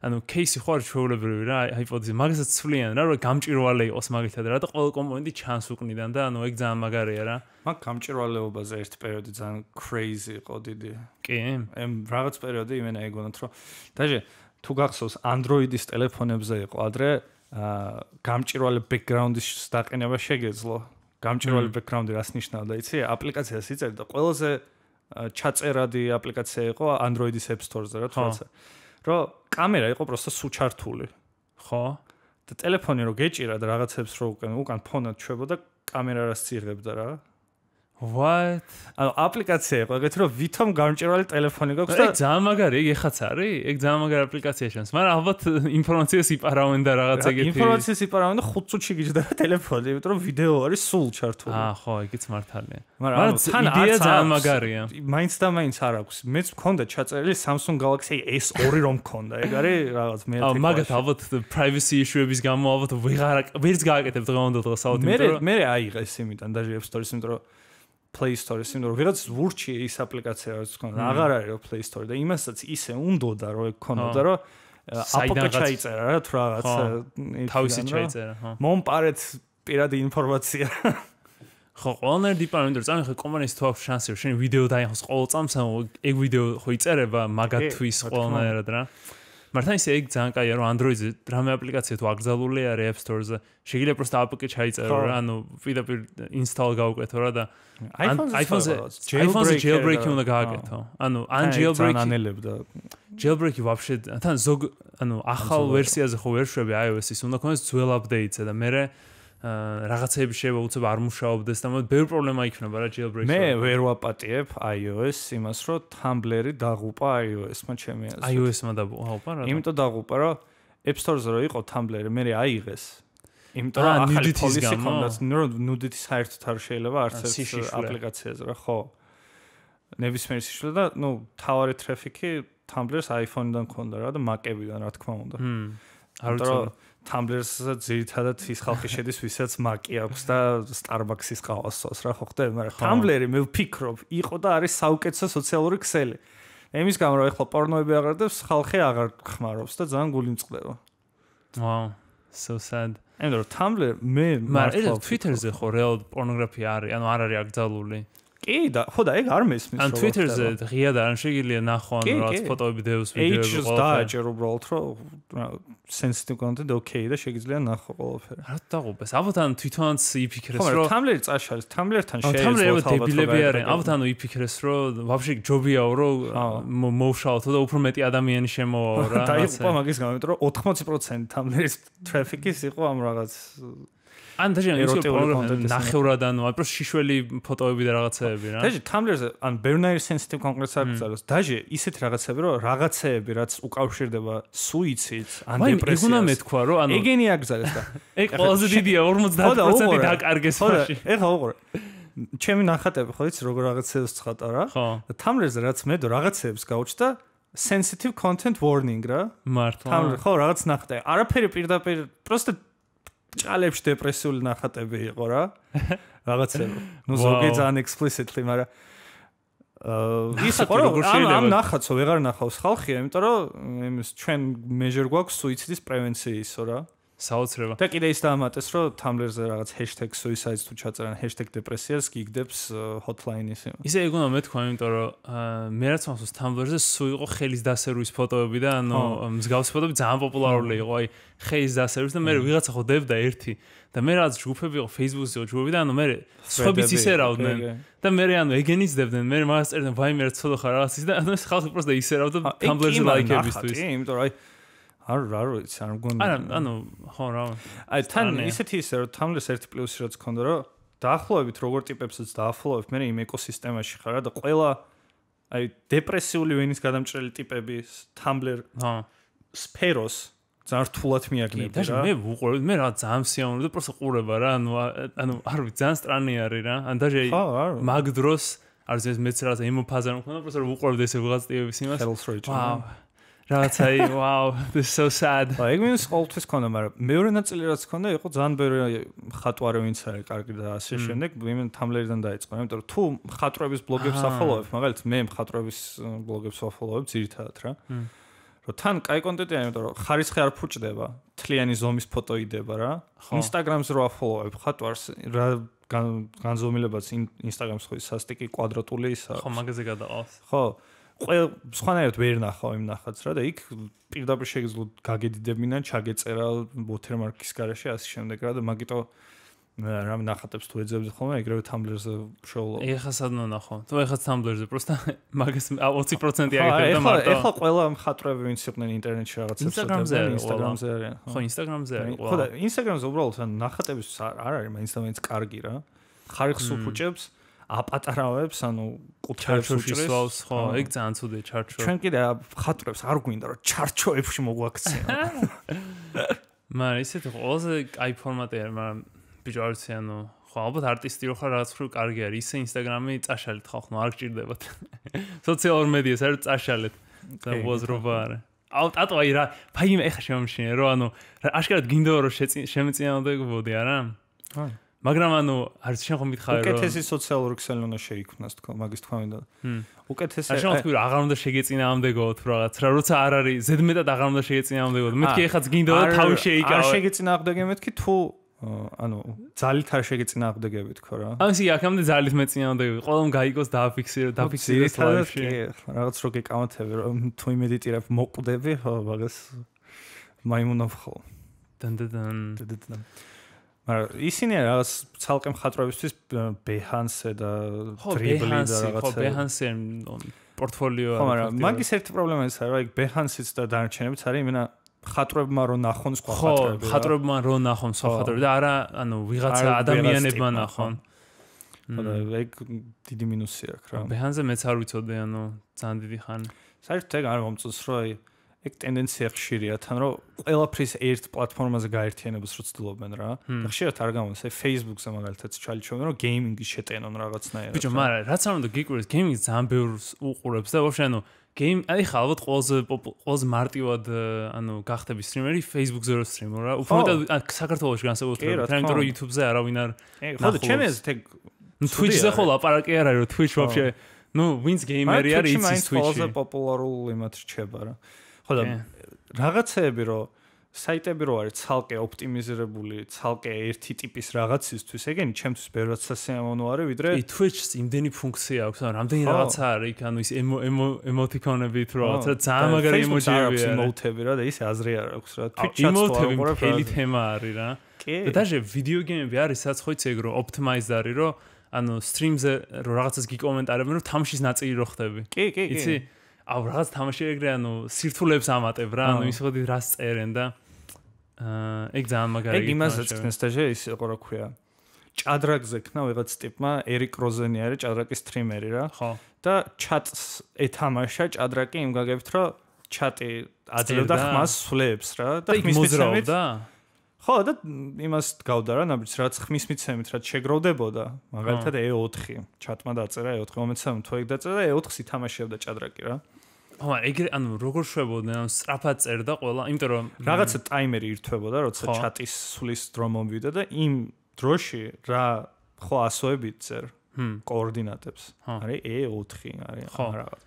A: ანუ кейსი ხო არის ჩვეულებრივი რა, iPod-ზე მაგასაც ცვლიან რა, რომ გამჭირვალე იყოს მაგითად რა და ყოველ კომპონენტი ჩანს უკნიდან და ანუ ეგ ძალიან მაგარია რა.
B: მაგ გამჭირვალეობაზე ერთ პერიოდი ძალიან crazy იყო დიდი.
A: კი.
B: ემ რაღაც პერიოდი იმენა ეგონათ რომ დაჟე თუ გახსოვს Android-ის ტელეფონებზე იყო ადრე აა გამჭირვალე ბექგრაუნდის დაყენება შეგეძლო. გამჭირვალე ბექგრაუნდი რას ნიშნავდა, იცი? აპლიკაციას იწერ და ყველაზე ჩაწერადი აპლიკაცია იყო Android-ის App Store-ზე რა თქმა. რომ კამერა იყო პროსტა სუჩართული.
A: ხო?
B: და ტელეფონი რო გეჭირა და რაღაცებს რო უკან უკან ფონად ჩვებოდა, კამერას იღებდა რა.
A: What?
B: ანუ აპლიკაცია იყო, ეგეთ რომ ვითომ გამჭირვალი ტელეფონი გაქვს
A: და ეგ ძალიან მაგარი, ეგ ეხაც არის? ეგ ძალიან მაგარი აპლიკაცია შენს. მაგრამ ალბათ ინფორმაციას იპარავენ და რაღაც ეგეთი.
B: ინფორმაციას იპარავენ და ხუთ წუთში გიჯდება ტელეფონი, იმიტომ რომ ვიდეო არის სულ ჩართული.
A: აა, ხო, ეგეც მართალია.
B: მაგრამ თან
A: იდეა ძალიან მაგარია.
B: მაინც და მაინც არ აქვს. მეც მქონდა ჩაწერილი Samsung Galaxy S two რომ მქონდა. ეგ არის რაღაც მე.
A: აა, მაგათ ალბათ privacy issue-ების გამო ალბათ ვეღარ ვერც გააკეთებ დღევანდელ დღესავთ,
B: იმიტომ რომ მე მე აიღეს იმიდან და App Store-ის, იმიტომ რომ Play Store-ის, იმიტომ რომ ვიღაც ვურჩი ის აპლიკაცია რაც ქონდა, აღარ არის რომ Play Store და იმასაც ისე უნდოდა რომ ეგ ქონოდა რომ აპოკა ჩაიწერა რა თუ რაღაც
A: თავისი ჩაიწერა, ხო.
B: მომპარეთ პირადი ინფორმაცია.
A: ხო, ყველანაირ დიპარტამენტზე წამი ხო კომპანიის თუ აქვს შანსი რომ შენ ვიდეო დაიხოს ყოველ წამს, ეგ ვიდეო ხო იწერება მაგათთვის ყველანაირად რა. მართლა ისე ეგ ძალიან კაია რომ Android-ზე რამე აპლიკაცია თუ აკრძალული არის App Store-ზე, შეიძლება просто აპოკე ჩაიწერო რა, ანუ პირდაპირ install გავუკეთო რა და iPhone-ზე iPhone-ზე jailbreak-ი უნდა გააკეთო. ანუ ან jailbreak-ი ანელებდა. Jailbreak-ი вообще თან ზოგ ანუ ახალ ვერსიაზე ხო ვერ შვები iOS-ის, უნდა ქონდეს ძველ update-ზე და მე რაღაცეები შეიძლება უცებ არ მუშაობდეს და მოდი ბევრი პრობლემა იქნება რა jailbreak-ზე.
B: მე ვერ ვაპატიებ iOS იმას, რომ Tumblr-ი დაღუპა iOS-მა ჩემი აზრით.
A: iOS-მა დაღუპა რა?
B: იმიტომ დაღუპა, რომ App Store-ზე რო იყო Tumblr-ი, მე აიღეს. იმიტომ რომ ახალი პოლისი ქონდათ, ნუდიტი საერთოდ არ შეიძლება არც ერთ აპლიკაციაზე რა, ხო. ნებისმიერ სიშლე და ნუ თავარი ტრაფიკი Tumblr-ს iPhone-დან ქონდა რა და Mac-ებიდან რა თქმა უნდა.
A: ჰმ. არ ვიცი.
B: Tumblr-ზე ძირითადად ის ხალხი შედის, ვისაც Mac-ი აქვს და Starbucks-ის ყავას სწავს რა, ხო ხდება, მაგრამ Tumblr-ი მე ვფიქრობ, იყო და არის საუკეთესო სოციალური ქსელი. ემის გამო რომ ეხლა პორნოები აღარდებს, ხალხი აღარ ხმარობს და ძალიან გული მწყდება.
A: Wow, so sad.
B: ანუ რომ Tumblr მე
A: მართლა Twitter-ზე ხო რეალ პორნოგრაფია არის, ანუ არ არის აკრძალული.
B: კი და ხო და ეგ არ მესმის
A: ან Twitter-ზე ღია და არ შეგიძლია ნახო ან რაღაც ფოტოები დევს ვიდეოები
B: ყველაფერი. დააჭერ უბრალოდ რომ sensitive content okay და შეგიძლია ნახო ყველაფერი.
A: რა დაღუპეს? ალბათ ან თვითონაც იფიქრეს რომ
B: Tumblr-ი წაშალეს, Tumblr-თან შეეძლო
A: Tumblr-ი დებილები არიან. ალბათ ანუ იფიქრეს რომ вообще ჯობიაო რომ მოვშალოთ და უფრო მეტი ადამიანი შემოვაო რა.
B: დაიღუპა მაგის გამო, იმიტომ რომ ოთხმოცი პროცენტი Tumblr-ის ტრაფიკის იყო ამ რაღაც
A: ან დაჟე ისე ნახევრად ანუ აი პროს შიშველი ფოტოები და რაღაცეები რა.
B: დაჟე Tumblr-ზე ან ბევრი sensitive კონკრეტს აკრძალოს. დაჟე ისეთ რაღაცები რომ რაღაცეები რაც უკავშირდება სუიციდს ან დეპრესიას.
A: ეგ უნდა მეთქვა რომ ანუ
B: ეგენი აკრძალეს და
A: ეგ ყველაზე დიდია ორმოცდაათი პროცენტი დაკარგეს მაშინ.
B: ეხა უყურე. ჩემი ნახატები ხო იცი როგორ რაღაცეებს ცხატა რა. და Tumblr-ზე რაც მე რაღაცეებს გავუჩნდა sensitive content warning რა.
A: მართლა.
B: Tumblr ხო რაღაც ნახატე. არაფერი პირდაპირ просто ჭალებში დეპრესიული ნახატები იყო რა. რაღაცები. ნუ ზოგი ძალიან explicitly, მაგრამ აა ის იყო რომ ამ ნახატსო ვეღარ ნახავს ხალხი, იმიტომ რომ იმის ჩვენ measure გვაქვს suicides პრევენციისო რა.
A: საოცრება.
B: და კიდე ის დაამატეს რომ Tumblr-ზე რაღაც hashtag suicides თუ ჩაწერან hashtag depressias გიგდებს hotline-ის იმას.
A: ისე ეგ უნდა მეთქვა, იმიტომ რომ მე რაც მახსოვს Tumblr-ზე სულ იყო ხელის დასერვის ფოტოები და ანუ მსგავსი ფოტოები ძალიან პოპულარული იყო, აი ხელის დასერვის და მე ვიღაცა ხო დებდა ერთი და მე რაც ჯგუფები იყო Facebook-ზე იყო ჯგუფები და ანუ მე სხვებიც ისერავდნენ და მე ანუ ეგენიც დებდნენ, მე მაგას წერდნენ ვაიმე რა ცოდო ხარ რაღაცის და ანუ ეს ხალხი просто ისერავდა Tumblr-ზე ლაიქებისთვის.
B: კი, იმიტომ რომ აი არ არ ვიცი, არ მგონია.
A: არა, ანუ ხო რა.
B: აი თან ისეთი ისე რომ Tumblr-ს ერთი პლუსი რაც ქონდა რომ დაახლოებით როგორ ტიპებსაც დაახლოებით მე იმ ეკოსისტემაში ხარ და ყველა აი დეპრესიული ვენის გადამჭრელი ტიპების Tumblr სფეროს ძალიან რთულად მიაგნებდა რა.
A: მე ვუყურებ, მე რა ძალიან სიამოვნებდა და просто ყურება რა, ანუ ანუ არ ვიცი, ძალიან სტრანი არის რა. ან დაჟე მაგ დროს არ ვიცი მეც რა ემოფაზა მქონდა, просто ვუყურებდი ესე ვიღაც ტიპების იმას. ვაუ. რაღაცაი, wow, this is so sad.
B: აი, ეგ მინს ყოველთვის ქონდა, მაგრამ მეორე ნაწილი რაც ქონდა, იყო ძალიან ბევრი ხატვარი ვინც არის კარგი და ასე შემდეგ, იმენ Tumblr-დან დაიწყო, იმიტომ რომ თუ ხატრების ბლოგებს აფოლოვებ, მაგალითად მე ხატრების ბლოგებს აფოლოვებ ძირითადად რა. რომ თან კაი კონტენტია, იმიტომ რომ ხარისხი არ ფუჭდება, თლიანი ზომის ფოტო იდება რა. Instagram-ზე რო აფოლოვებ ხატვარს, რა განზომილებაც Instagram-ს ხო სასტიკი კვადრატული ისა.
A: ხო, მაგაზე გადაყავს.
B: ხო. ყველა სხვანაირად ვერ ნახავ იმ ნახატს რა და იქ პირდაპირ შეგიძლია გაგედიდებინან, ჩაგეწერა watermark-ის გარეშე ასე შემდეგ რა და მაგიტო მე რამე ნახატებს თუ ეძებდი ხოლმე, ეგრევე Tumblr-ზე შოულობ.
A: ეხა სადმო ნახო. თუ ეხა Tumblr-ზე просто მაგას ოცი პროცენტი აგიხარ და
B: მარტო. ეხლა ყველა მხატვრები ვინც იყვნენ ინტერნეტში რაღაცებს
A: Instagram-ზე
B: Instagram-ზე არიან.
A: ხო, Instagram-ზე არის
B: ხო და Instagram-ზე უბრალოდ ნახატების არ არის მაინც და მაინც კარგი რა. ხარიხს უფუჭებს, აპატარავებს, ანუ კუთხეებს
A: უჭრეს, ხო, ეგ ძალიან ცუდია ჩარჩო.
B: ჩვენ კიდე მხატვრებს არ გვინდა რომ ჩარჩოებში მოგვაქცია.
A: მაგრამ ისეთი ყველაზე კაი ფორმატი არის, მაგრამ ბიჭო არ ვიცი, ანუ ხო, ალბათ არტისტი რო ხარ რაღაც ხრო კარგი არის, ისე Instagram-ი წაშალეთ ხალხო, არ გჭირდებათ. სოციალურ მედიას არ წაშალეთ. და უაზრობა არის. აუ ტატო აი რა, ფაიმე ეხა შემომშინე, რომ ანუ აშკარად გინდა რომ შემეწინააღმდეგებოდი, არა?
B: აი
A: მაგრამ ანუ არც შენ ხომ მითხარი რომ
B: უკეთესი სოციალური ქსელი უნდა შეიქმნას თქო, მაგის თქვა მინდა. უკეთესი
A: არ შემოთქვი რომ აღარ უნდა შეგეწინააღმდეგოთ რაღაც რა, როცა არ არის ზედმეტად აღარ უნდა შეგეწინააღმდეგოთ. მეთქი ეხაც გინდა და თავი შეიკავე.
B: არ შეგეწინააღმდეგე მეთქი თუ ანუ ძალით არ შეგეწინააღმდეგები თქო რა.
A: ამისი აქამდე ძალით მეწინააღმდეგები. ყველამ გაიგოს დააფიქსირო, დააფიქსიროს ლაივში.
B: რაღაც რო გეკამათები რომ თუ იმედიტირებ მოკვდები, ხო, მაგას მაიმუნов ხო.
A: დანდან
B: დანდან მაგრამ ისინი რაღაც ცალკე მხატვრებისთვის Behance და Dribbble და რაღაცა.
A: ხო, Behance პორტფოლიო.
B: ხო, მაგრამ მაგის ერთი პრობლემა ის არის, რომ აი Behance-იც და დანარჩენებიც არის იმენა ხატრებმა რო ნახონ სხვა ხატრები.
A: ხო, ხატრებმა რო ნახონ სხვა ხატრები და არა, ანუ ვიღაცა ადამიანებმა ნახონ.
B: ხო და ეგ დიდი მინუსი აქვს რა.
A: Behance-ზე მეც არ ვიცოდი, ანუ ძალიან დიდი ხანი.
B: საერთოდ ეგ არ მომწონს, რომ აი ეგ ტენდენცია ხშირია თან რომ ყველაფრის ერთ პლატფორმაზე გაერთიანებას რო ცდილობენ რა. და ხშირად არ გამოდის, აი Facebook-ზე მაგალითად ჩალიჩვენენ რომ გეიმინგი შეტენონ რაღაცნაირად.
A: ბიჭო, მაგრამ რაც არ უნდა გიკვირდეს, გეიმინგი ძალიან ბევრს უყურებს და ვაფშე ანუ გეიმ აი ხა ალბათ ყველაზე ყველაზე მარტივად ანუ გახდები სტრიმერი Facebook-ზე რო სტრიმო რა. უფრო საქართველოში განსაკუთრებით, იმიტომ რომ YouTube-ზე არავინ არ
B: ხო და ჩემს ეგ
A: Twitch-ზე ხო ლაპარაკი არ არის რომ Twitch ვაფშე ნუ ვინც გეიმერი არის იცის Twitch-ი.
B: ყველაზე პოპულარულ იმათ რჩება რა. ხო და რაღაცეები რომ საიტები რო არის ცალკე ოპტიმიზირებული, ცალკე ერთი ტიპის რაღაცისთვის, ეგენი ჩემთვის ბევრად სასიამოვნო არის, ვიდრე
A: Twitch-ს იმდენი ფუნქცია აქვს, ანუ რამდენი რაღაცა არის იქ, ანუ ის ემოტიკონებით რო რაღაცა ძალიან მაგარი ემოჯიები
B: არის. ემოთები რა და ისე აზრი არ აქვს რა.
A: Twitch-ს ემოთები მთელი თემა არის რა. და даже ვიდეო გეიმები არის, სადაც ხო იცი ეგ რო optimized არის, რომ ანუ stream-ზე რო რაღაცას გიკომენტარებენ, რომ თამშის ნაწილი რო ხდები.
B: კი, კი, კი.
A: იცი აუ რაღაც თამაში ეგრე ანუ სირთულებს ამატებ რა, ანუ ის ხოდი რას წერენ და აა ეგ ძალიან მაგარი.
B: ეგ იმასაც ხსნეს დაჟე ის იყო რა ქვია. ჭადრაკზე ქნა ვიღაც ტიპმა ერიკ როზენი არის ჭადრაკის სტრიმერი რა.
A: ხო.
B: და ჩატს ეთამაშა ჭადრაკი იმ გაგებით რომ ჩატი აძლევდა ხმას სვლებს რა და ხმის მიცემით
A: და
B: ხო და იმას გავდა რა ნაბიჯს რაც ხმის მიცემით რაც შეგროვდებოდა მაგალითად ე ოთხი ჩატმა დაწერა ე ოთხი მომეცემ თუ ეგ დაწერა და ე ოთხს ითამაშებდა ჭადრაკი რა.
A: ხო, ეგრე ანუ როგორ შვებოდნენ, ანუ სწრაფად წერდა ყველა, იმიტომ რომ
B: რაღაცა ტაიმერი ირთვებოდა, როცა ჩატის სulis დრო მომვიდა და იმ დროში რა ხო ასოებით წერ კოორდინატებს. არის ე ოთხი, არის რაღაც.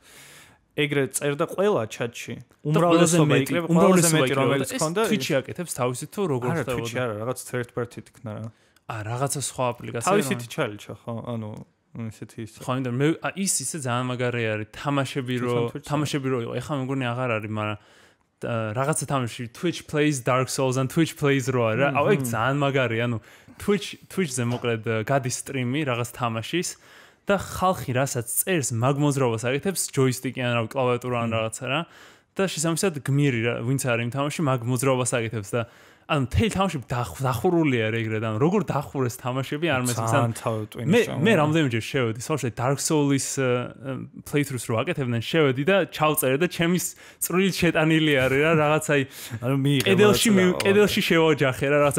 B: ეგრე წერდა ყველა ჩატში. უმრავლესობა იქნება, ყველაზე მეტი რომელიც ჰქონდა.
A: Twitch-ი აკეთებს თავისით თუ როგორ ხდებოდა?
B: არა, Twitch-ი არა, რაღაც third party თქნა რა.
A: აა, რაღაცა სხვა აპლიკაცია.
B: თავისით ჩალიჩა, ხო, ანუ ისეთი ის.
A: ხო, იმდა მე ის ისე ძალიან მაგარი არის, თამაშები რო თამაშები რო იყო, ეხლა მეგონი აღარ არის, მაგრამ რაღაცა თამაში Twitch plays Dark Souls and Twitch plays რო არა. აუ, ეგ ძალიან მაგარი, ანუ Twitch Twitch-ზე მოკლედ გადის სტრიმი რაღაც თამაშის და ხალხი რასაც წერს მაგ მოძრაობას აკეთებს ჯოისტიკი ან რა კლავიატურა ან რაღაცა რა და შესაბამისად გმირი რა ვინც არის იმ თამაში მაგ მოძრაობას აკეთებს და ანუ თელ თამაში დახურული არის ეგრე და როგორ დახურეს თამაშები არ მესმის მე მე რამდენიმეჯერ შევედი სოშე Dark Souls-ის playthroughs რო აკეთებდნენ შევედი და ჩავწერე და ჩემის წვრილით შეტანილი არის რა რაღაც აი
B: ანუ მიიღე
A: კედელში კედელში შევაჯახე რა რაღაც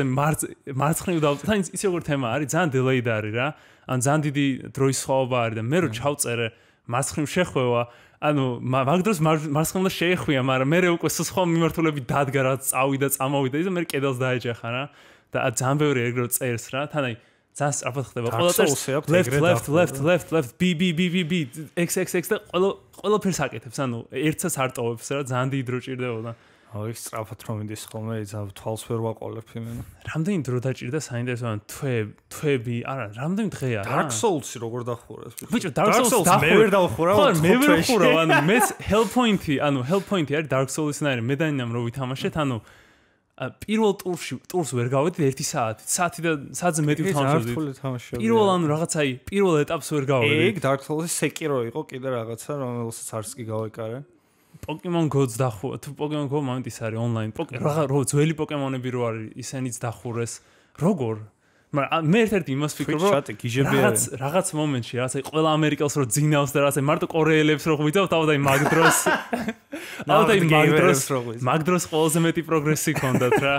A: მარცხნივ და თან ისე როგორ თემა არის ძალიან delayed არის რა ან ძალიან დიდი დროის სხვაობა არის და მე რო ჩავწერე მარცხნივ შეხვევა ანუ მაგ დროს მარცხნივ შეეხვია მაგრამ მე უკვე სხვა მიმართულები დადგა რა წავიდა წამოვიდა და მე კედელს დაეჯახა რა და ძალიან ბევრი ეგრე წერს რა თან აი ძალიან სწრაფად ხდება ყველა წერს left left left left left b b b b b x x x და ყველა ყველაფერს აკეთებს ანუ ერთსაც არ ტოვებს რა ძალიან დიდი დრო ჭირდებოდა
B: აუ ის სწრაფად რომ ინდის ხოლმე ძალიან თვალს ვერ ვაყოლებ იმენა
A: რამდენი დრო დაჭირდა საინტერესო ან თვე თვები არა რამდენი დღეა რა
B: Dark Souls-ი როგორ დახურეს
A: ბიჭო Dark Souls
B: მე ვერ დავხურავ
A: ხო მე ვერ ვხურავ ანუ მე Hellpoint-ი ანუ Hellpoint-ი არის Dark Souls-ის ნაირი მე და ინამ რო ვითამაშეთ ანუ პირველ ტურში ტურს ვერ გავედი ერთი საათი. საათი და საათზე მეტი ვთამაშობდი. პირველ ანუ რაღაცა აი პირველ ეტაპს ვერ გავედი.
B: ეგ Dark Souls-ის Sekiro იყო კიდე რაღაცა რომელსაც არც კი გავეკარე.
A: Pokemon Go-ს დახურა. თუ Pokemon Go მომენტის არის online. რა რო ძველი Pokemon-ები რო არის, ისენიც დახურეს. როგორ? მაგრამ მე ერთ-ერთი იმას ვფიქრობ, რომ რაღაც რაღაც მომენტში, რაღაცა ყველა ამერიკელს რო ძინავს და რაღაცა მარტო კორეელებს რო ღვიძავთ, ალბათ აი მაგ დროს. ალბათ აი მაგ დროს მაგ დროს ყველაზე მეტი პროგრესი ქონდათ რა.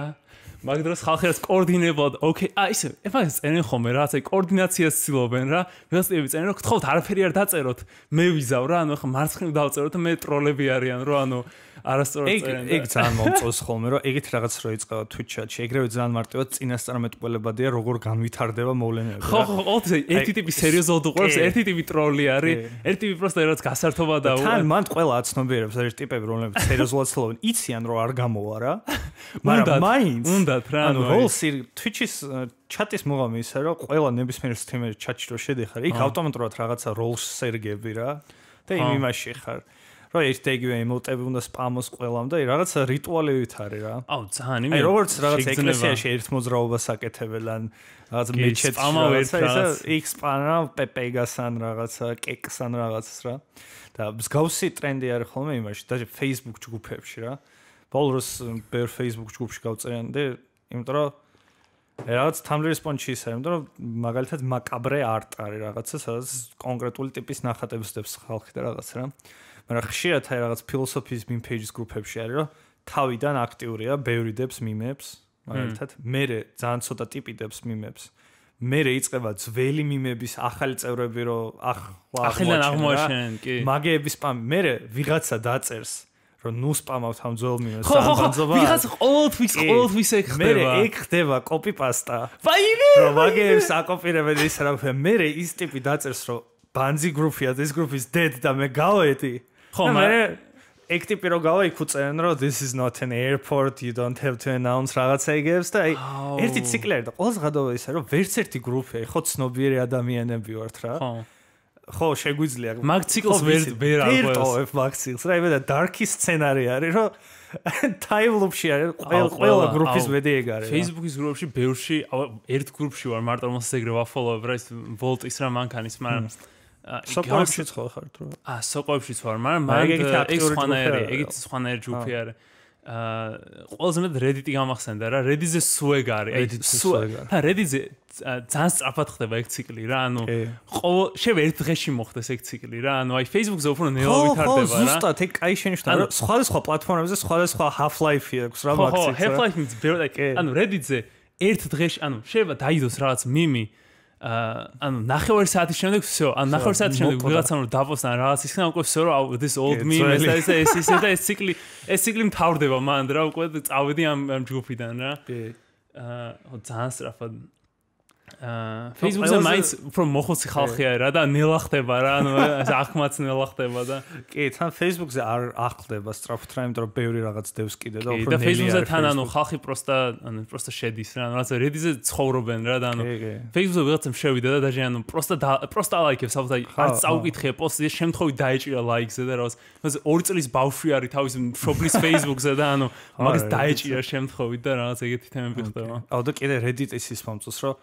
A: მაგ დროს ხალხი რაც კოორდინებულად, ოკეი, აი ისე, ეფას წერენ ხოლმე რა, აი კოორდინაციას ცდილობენ რა. ვიღაცები წერენ რომ გთხოვთ არაფერი არ დაწეროთ. მე ვიზავ რა, ანუ ხა მარცხნივ დავწეროთ და მე ტროლები არიან რო ანუ არასწორად წერენ.
B: ეგ ძალიან მომწონს ხოლმე რომ ეგეთ რაღაც რო იწყება Twitch-ში, ეგრევე ძალიან მარტივად წინასწარმეტყველებადია როგორ განვითარდება მოვლენები რა.
A: ხო, ხო, ოთზე ერთი ტიპი სერიოზულად უყურებს, ერთი ტიპი ტროლი არის, ერთი ტიპი პროსტა რაღაც გასართობა და
B: თან მან ყველა აცნობიერებს არის ტიპები რომლებიც სერიოზულად ცდილობენ, იციან რომ არ გამოვა რა. მაგრამ მაინც
A: უნდათ რა,
B: ანუ როლსი Twitch-ის ჩატის მოღამი ისე რომ ყველა ნებისმიერ სტრიმერი ჩატში რო შედიხარ, იქ ავტომატურად რაღაცა როლს სერგები რა და იმ იმაში ხარ. რო ერთ ეგივე ემოტები უნდა სპამოს ყველამ და რაღაცა რიტუალებით არის რა.
A: აუ ძალიან იმე.
B: აი როგორც რაღაც ეკლესიაში ერთ მოძრაობას აკეთებენ ან რაღაც მეჩეთში რაღაცა იქ სპანა პეპეგასან რაღაცა კეკსან რაღაცას რა. და მსგავსი ტრენდი არის ხოლმე იმაში და Facebook ჯგუფებში რა. ბოლოს ბევრ Facebook ჯგუფში გავწერიანდი, იმიტომ რომ რაღაც Tumblr response-ში ისე, იმიტომ რომ მაგალითად მაკაბრე არტ არის რაღაცა, სადაც კონკრეტული ტიპის ნახატებს დებს ხალხი და რაღაც რა. მაგრამ ხშირად აი რაღაც ფილოსოფიის meme pages გრუპებში არის, რომ თავიდან აქტიურია, ბევრი დებს მიმებს, მაგალითად, მე ძალიან ცოტა ტიპი დებს მიმებს. მე იწყება ძველი მიმების ახალი წევრები, რომ ახლა
A: ახლა აღმოაჩენენ, კი.
B: მაგეების სპამი, მე ვიღაცა დაწერს რომ ნუ სპამავთ ამ ძველ მიმებს
A: ან ბანძობა. ვიღაცა ყოველთვის ყოველთვის ეგ ხდება.
B: მე ეგ ხდება copy paste.
A: ვაიმე!
B: რომ მაგეებს აკოპირებენ ის რა ვქნა, მე ის ტიპი დაწერს რომ ბანძი გრუპია, this group is dead და მე გავედი. ხო, მე ეგ ტიპი რო გავა იქ უწერენ რომ this is not an airport, you don't have to announce რაღაცა იგებს და აი ერთი ციკლი არის და ყოველს გადავა ისა რომ ვერც ერთი გრუპია, ხო ცნობიერი ადამიანები ვართ რა. ხო. ხო, შეგვიძლია.
A: მაგ ციკლს ვერ ვერ
B: აღყვეს. მაგ ციკლს რა, იმედა dark-ის სცენარი არის, რომ time loop-ში არის, ყველა ყველა გრუპის მედი ეგ არის.
A: Facebook-ის გრუპში ბევრში, ერთ გრუპში ვარ მარტო რომელსაც ეგრე ვაფოლოვებ რა, ის Volt-ის რა მანქანის, მაგრამ
B: სოკოებშიც ხო ხართ რა?
A: აა, სოკოებშიც ვარ, მაგრამ მაგ ეგ სხვანაირი, ეგეც სხვანაირი ჯგუფი არის. აა, ყველაზე მეტად Reddit-ი გამახსენდა რა, Reddit-ზე სუეგ არის. აი, სუეგ. და Reddit-ზე ძალიან სწრაფად ხდება ეგ ციკლი რა, ანუ ყოველ შევ ერთ დღეში მოხდეს ეგ ციკლი რა, ანუ აი Facebook-ზე უფრო ნელა ვითარდება რა.
B: ხო, ზუსტად ეგ კაი შენიშნა რა, სხვადასხვა პლატფორმებზე სხვადასხვა Half-Life-ი აქვს რა მაგ ციკლს.
A: ხო, Half-Life-იც ბევრი, ანუ Reddit-ზე ერთ დღეში, ანუ შევა დაიდოს რაღაც მიმი ანუ ნახევარი საათის შემდეგ всё, ანუ ნახევარი საათის შემდეგ ვიღაცამ რომ დაპოსტა რაღაც ისე უკვე всё რომ this old meme ეს ეს ეს ეს ეს ციკლი ეს ციკლი მთავრდება მანდ რა უკვე წავედი ამ ამ ჯგუფიდან რა. აა ძალიან სწრაფად აა Facebook-ზე მაინც უფრო მოხოცი ხალხი არის რა და ნელა ხდება რა, ანუ ახმაც ნელა ხდება და
B: კი, თან Facebook-ზე არ ახდება სწრაფად რა, იმიტომ რომ ბევრი რაღაც დევს კიდე და უფრო
A: ნელი არის. და Facebook-ზე თან ანუ ხალხი პროსტა ანუ პროსტა შედის რა, ანუ რაღაცა Reddit-ზე ცხოვრობენ რა და ანუ Facebook-ზე ვიღაცამ შევიდა და დაჟე ანუ პროსტა პროსტა ლაიქებს, ალბათ არც წაუკითხე პოსტზე, შემთხვევით დაეჭირა ლაიქზე და რაღაც ორი წლის ბავშვი არის თავის მშობლის Facebook-ზე და ანუ მაგას დაეჭირა შემთხვევით და რაღაც ეგეთი თემები ხდება.
B: აუ და კიდე Reddit-ის ის მომწონს რომ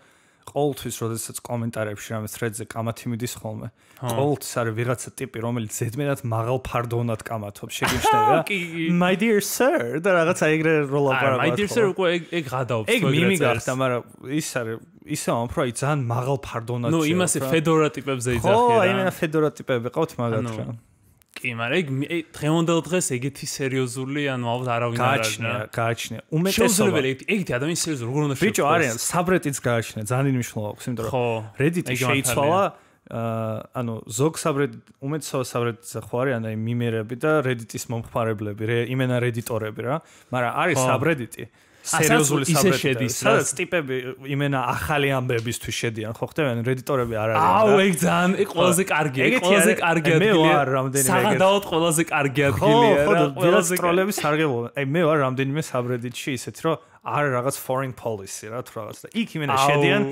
B: ყოველთვის როდესაც კომენტარებში რამე thread-ზე კამათი მიდის ხოლმე. ყოველთვის არის ვიღაცა ტიპი, რომელიც ზედმეტად მაღალ ფარდონად კამათობს, შეგიმჩნევა. My dear sir, და რაღაცა ეგრე როლაპარაკობს.
A: My dear sir უკვე ეგ ეგ გადაობს.
B: ეგ მიმი გახდა, მაგრამ ის არის ისე უფრო აი ძალიან მაღალ ფარდონად.
A: ნუ იმასე ფედორა ტიპებზე იძახი რა.
B: ხო, აი მე ფედორა ტიპები ყავთ მაგათ რა.
A: კი, მაგრამ ეგ დღევანდელ დღეს ეგეთი სერიოზული, ანუ ალბათ არავინ არ არის.
B: გააჩნია, გააჩნია. უმეტესობა
A: ეგეთი ადამიანი სერიოზული როგორ უნდა
B: შეფოს. ბიჭო, არიან საბრეტიც გააჩნია, ძალიან მნიშვნელოვანი აქვს, იმიტომ რომ Reddit-ი შეიცვალა, ანუ ზოგ საბრეტ უმეტესობა საბრეტზე ხო არიან აი მიმერები და Reddit-ის მომხმარებლები, იმენა Redditorები რა, მაგრამ არის საბრეტი სერიოზული საბრეტი, სადაც ტიპები იმენა ახალი ამბებისთვის შედიან, ხო ხდებიან Redditorები არ არიან.
A: აუ, ეგ ძალიან ეგ ყველაზე კარგია, ეგ ყველაზე კარგი ადგილია.
B: მე ვარ რამდენიმე
A: საღადაოდ ყველაზე კარგი ადგილია რა,
B: ყველაზე ტროლები სარგებლობენ. აი მე ვარ რამდენიმე საბრედიტში ისეთ რომ არ რაღაც foreign policy რა თუ რაღაც და იქ იმენა შედიან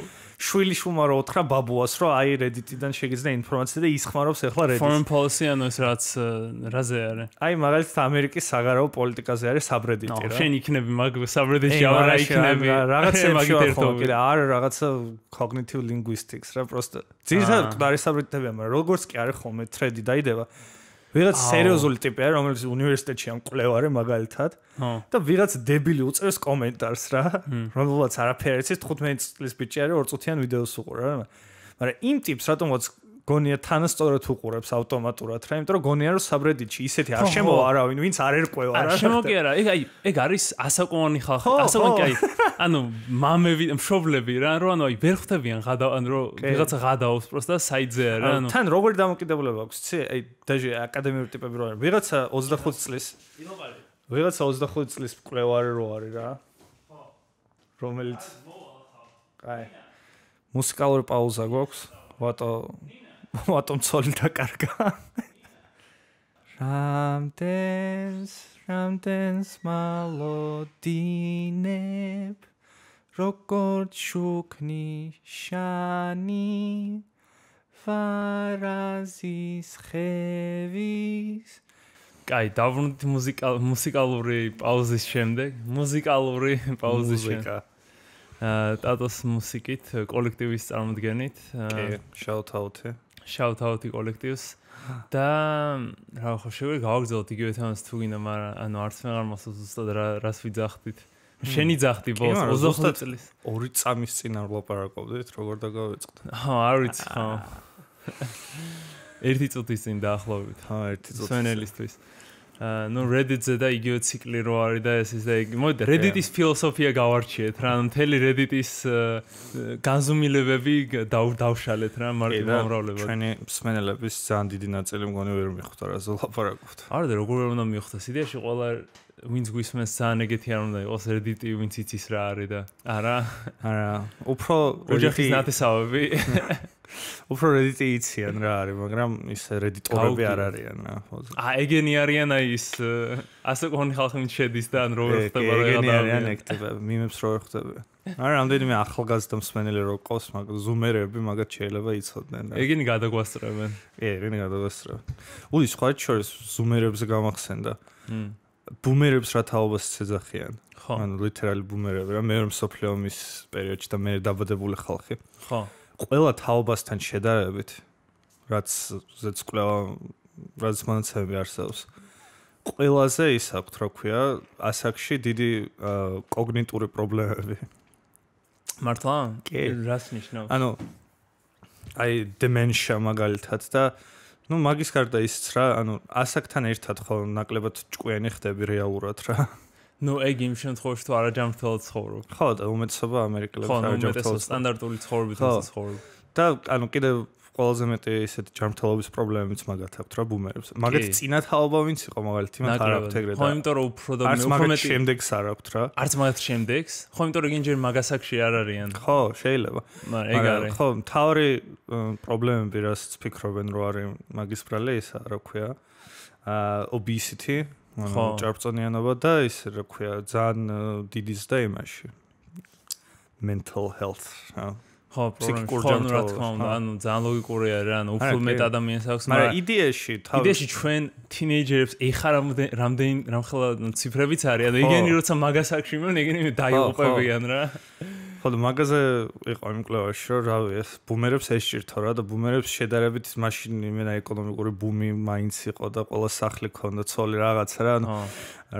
B: შვილი შუმა რო უთხრა ბაბუას რომ აი Reddit-დან შეგიძლია ინფორმაცია და ის ხმარობს ახლა Reddit.
A: Foreign policy ანუ ეს რაც რაზე არის?
B: აი მაგალითად ამერიკის საგარეო პოლიტიკაზე არის subreddit-ი რა.
A: შენ იქნები მაგ subreddit-ში აღარა იქნები
B: რაღაცებში ვარ კიდე არ რაღაცა cognitive linguistics რა პროსტა. ძირითადად ყდარი subreddit-ებია, მაგრამ როგორც კი არის ხოლმე thread-ი დაიდება. ვიღაც სერიოზული ტიპია, რომელიც უნივერსიტეტში ამ კვლევარი მაგალითად და ვიღაც დებილი უწევს კომენტარს რა, რომელსაც არაფერი იცის თხუთმეტი წლის ბიჭი არის ორ წუთიან ვიდეოს უყურა რა. მაგრამ იმ ტიპს რატომაც გონია თანასწორად უყურებს ავტომატურად რა, იმიტომ რომ გონია რომ subreddit-ში ისეთი არ შემოვა არავინ, ვინც არ ერკვევა რა.
A: არ შემოგი არა, ეგ აი ეგ არის ასაკოვანი ხალხი, ასაკოვანი აი ანუ მამები, მშობლები რა, რომ ანუ აი ვერ ხვდებიან ღადა, ანუ რომ ვიღაცა ღადაობს პროსტა საიტზე რა, ანუ
B: თან როგორი დამოკიდებულება აქვს, იცი? აი დაჟე აკადემიური ტიპები რო არის. ვიღაცა ოცდახუთი წლის. ვიღაცა ოცდახუთი წლის მკვლევარი რო არის რა. რომელიც აი მუსიკალური პაუზა გვაქვს. ვატო ვატომ ცოლი დაკარგა. რამდენს რამდენს მალოდინებ როგორც შუქნი შანი ფარაზის ხევის.
A: კაი, დავრუნდით მუსიკალური პაუზის შემდეგ, მუსიკალური პაუზის შემდეგ. ტატოს მუსიკით, კოლექტივის წარმოდგენით.
B: კი, shout out-ი.
A: shout out-ი კოლექტივს. და რა ხო შეგვიძლია გავაგრძელოთ იგივე თემას თუ გინდა, მაგრამ ანუ არც მე არ მოსწონს ზუსტად რას ვიძახდით. შენი ძახდი ბოლოს ოცდახუთი წლის.
B: ორი წამის წინ არ ვლაპარაკობდით, როგორ დაგავიწყდა.
A: ხო, არ ვიცი, ხო. ერთი წუთის წინ დაახლოებით.
B: ხო, ერთი წუთის.
A: სვენელისთვის. ну Reddit-ზე და იგივე ციკლი რო არის და ეს ის და იგი. მოდი Reddit-ის ფილოსოფია გავარჩიეთ რა, ანუ მთელი Reddit-ის განზომილებები დავშალეთ რა, მარტივმომრავლებად.
B: ჩვენი მსმენელების ძალიან დიდი ნაწილი მგონი ვერ მიხვდა რა ზოლაპარაკობთ.
A: არა და როგორ უნდა მიხვდეს იდეაში ყველა ვინც გვისმენს ძალიან ეგეთი არ უნდა იყოს Reddit-ი ვინც იცის რა არის და არა
B: არა უფრო
A: ოჯახის ნათესავები
B: უფრო Reddit-ი იციან რა არის, მაგრამ ის Reddit-ორები არ არიან რა.
A: აა ეგენი არიან აი ის ასაკოვანი ხალხი ვინც შედის და ან როგორ ხდება რა
B: ეგენი არიან ექტივები, მიმებს როგორ ხდება. არა, რამდენიმე ახალგაზრდა მსმენელი რო ყავს, მაგრამ ზუმერები მაგათ შეიძლება იცოდნენ და
A: ეგენი გადაგვასწრებენ.
B: კი, ეგენი გადაგვასწრებენ. უი, სხვა შორის ზუმერებზე გამახსენდა. ბუმერებს რა თაობას ეძახიან?
A: ხო.
B: ანუ ლიტერალი ბუმერები რა, მეორე მსოფლიო ომის პერიოდში და მე დაბადებული ხალხი.
A: ხო.
B: ყველა თაობასთან შედარებით, რაც ზეც კვლევა, რაც მონაცემები არსებობს. ყველაზე ის აქვს, რა ქვია, ასაკში დიდი კოგნიტური პრობლემები.
A: მართლა?
B: კი.
A: რას ნიშნავს?
B: ანუ აი dementia მაგალითად და ну მაგის გარდა ისიც რა, ანუ ასაკთან ერთად ხო ნაკლებად ჭკვიანი ხდები რეალურად რა.
A: ну ეგ იმ შემთხვევაში თუ არაჯანმრთელად ცხოვრობ.
B: ხო, და უმეტესობა ამერიკელებს
A: არაჯანმრთელად სტანდარტული ცხოვრებით ცხოვრობ.
B: და ანუ კიდევ ყველაზე მეტი ესეთი ჯანმრთელობის პრობლემებიც მაგათ აქვთ რა ბუმერებს. მაგათ წინა თაობა ვინც იყო მაგალითად, იმათ არ აქვთ ეგრე და.
A: ხო, იმიტომ რომ უფრო და
B: უფრო მეტი შემდეგს არ აქვთ რა.
A: არც მაგათ შემდეგს. ხო, იმიტომ რომ ინჯერ მაგასაკში არ არიან.
B: ხო, შეიძლება.
A: მაგრამ ეგ არის.
B: ხო, მთავარი პრობლემები რასაც ფიქრობენ რომ არის მაგის ბრალე ისა, რა ქვია, აა obesity, ანუ ჭარბწონიანობა და ის რა ქვია, ძალიან დიდი ზრდა იმაში. mental health, რა.
A: ხო, პრობლემა რა თქმა უნდა, ანუ ძალიან ლოგიკური არის, ანუ უფრო მეტ ადამიანს აქვს,
B: მაგრამ იდეაში,
A: იდეაში ჩვენ თინეიჯერებს ეხა რამდენი რამხელა ციფრებიც არის, ანუ იგენი როცა მაგასაკში მან იგენი დაიუყებიან რა. ხო,
B: და მაგაზე იყო იმ კვლევაში, რომ რავი, ეს ბუმერებს ესჭირთო რა და ბუმერებს შედარებით მაშინ იმენა ეკონომიკური ბუმი მაინც იყო და ყველა სახლი ქონდა, ცოლი რაღაცა რა, ანუ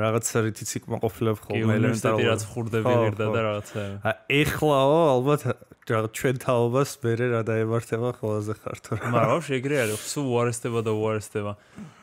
B: რაღაცა რითიც იქმაყოფილებ ხოლმე
A: ელემენტარულად რაც ხურდები ღირდა და რაღაცა.
B: ეხლაო ალბათ ჩვენ თაობას მერე რა დაემართება ყველაზე ხართო რა.
A: მაგრამ შეგრე არის, სულ უარესდება და უარესდება.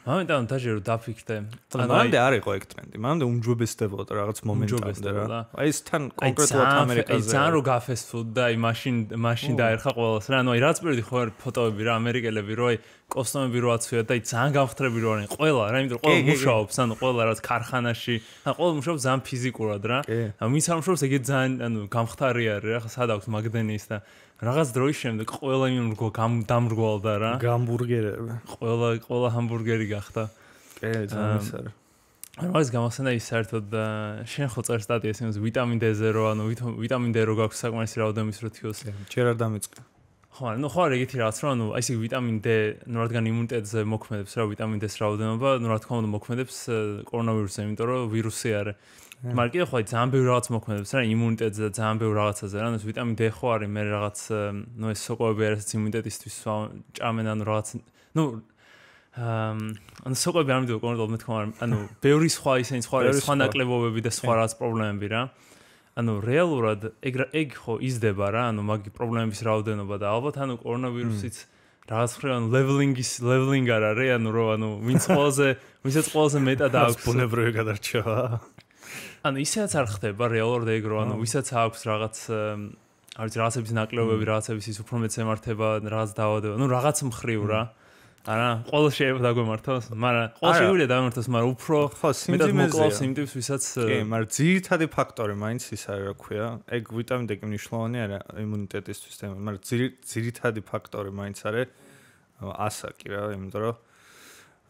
A: მომენტად დაჟე რომ დაფიქრდე.
B: ანუ მანამდე არ იყო ეგ ტრენდი, მანამდე უმჯობესდებოდა რაღაც მომენტამდე რა. აი ეს თან კონკრეტულად ამერიკაზე.
A: აი ძალიან რო გაფესტფუდ და აი მაშინ მაშინ დაერხა ყველას რა. ანუ აი რაც პირველი ხო არის ფოტოები რა ამერიკელები რო აი კოსტუმები რო აცვია და აი ძალიან გამხდრები რო არიან ყველა რა, იმიტომ რომ ყველა მუშაობს, ანუ ყველა რაც ქარხანაში, ანუ ყველა მუშაობს ძალიან ფიზიკურად რა. ანუ ვინც არ მუშაობს ეგეთ ძალიან ანუ გამხდარი არის რა, სად აქვს მაგდენის და რაღაც დროის შემდეგ ყველა იმ რგო დამრგვალდა რა.
B: გამბურგერები.
A: ყველა ყველა ჰამბურგერი გახდა.
B: კი, ძალიან ის არის.
A: არ მაგას გამახსენდა ის საერთოდ შენ ხო წერ სტატიას იმას ვიტამინ D-ზე რო ანუ ვიტამინ D რო გაქვს საკმარისი რაოდენობის რო თიოს.
B: ჯერ არ დამიწყე.
A: ხო, ну ხო არ ეგეთი რაღაც რომ ანუ აი ესე ვიტამინ D, ну რადგან იმუნიტეტზე მოქმედებს რა ვიტამინ D-ს რაოდენობა, ну რა თქმა უნდა მოქმედებს კორონავირუსზე, იმიტომ რომ ვირუსი არის. მაგრამ კიდე ხო აი ძალიან ბევრი რაღაც მოქმედებს რა იმუნიტეტზე და ძალიან ბევრი რაღაცაზე რა, ანუ ვიტამინ D ხო არის მე რაღაც ну ეს სოკოები არის იმუნიტეტისთვის ჭამენ ანუ რაღაც ну ანუ სოკოები არ მიდიო კონკრეტულად მე თქვა ანუ ბევრი სხვა ისინი სხვა სხვა ნაკლებობები და სხვა რაღაც პრობლემები რა. ანუ რეალურად ეგ ეგ ხო იზრდება რა, ანუ მაგი პრობლემების რაოდენობა და ალბათ ანუ კორონავირუსიც რაღაც ხრი ანუ ლეველინგის ლეველინგ არ არის, ანუ რო ანუ ვინც ყველაზე ვინცაც ყველაზე მეტად აქვს
B: ბუნებრივი გადარჩევა.
A: ანუ ისეც არ ხდება რეალურად ეგ რო ანუ ვისაც აქვს რაღაც არის რაღაცების ნაკლებობები, რაღაცების ის უფრო მეც ემართება, რაღაც დაავადება, ну რაღაც მხრივ რა. არა, ყველა შეიძლება დაგვემართოს, მაგრამ ყველა შეგვიძლია დავემართოს, მაგრამ უფრო მეტად მოკლავს იმ ტიპს, ვისაც
B: კი, მაგრამ ძირითადი ფაქტორი მაინც ის არის, რა ქვია, ეგ ვიტამინ D კი მნიშვნელოვანი არა იმუნიტეტისთვის, მაგრამ ძირითადი ფაქტორი მაინც არის ასაკი რა, იმიტომ რომ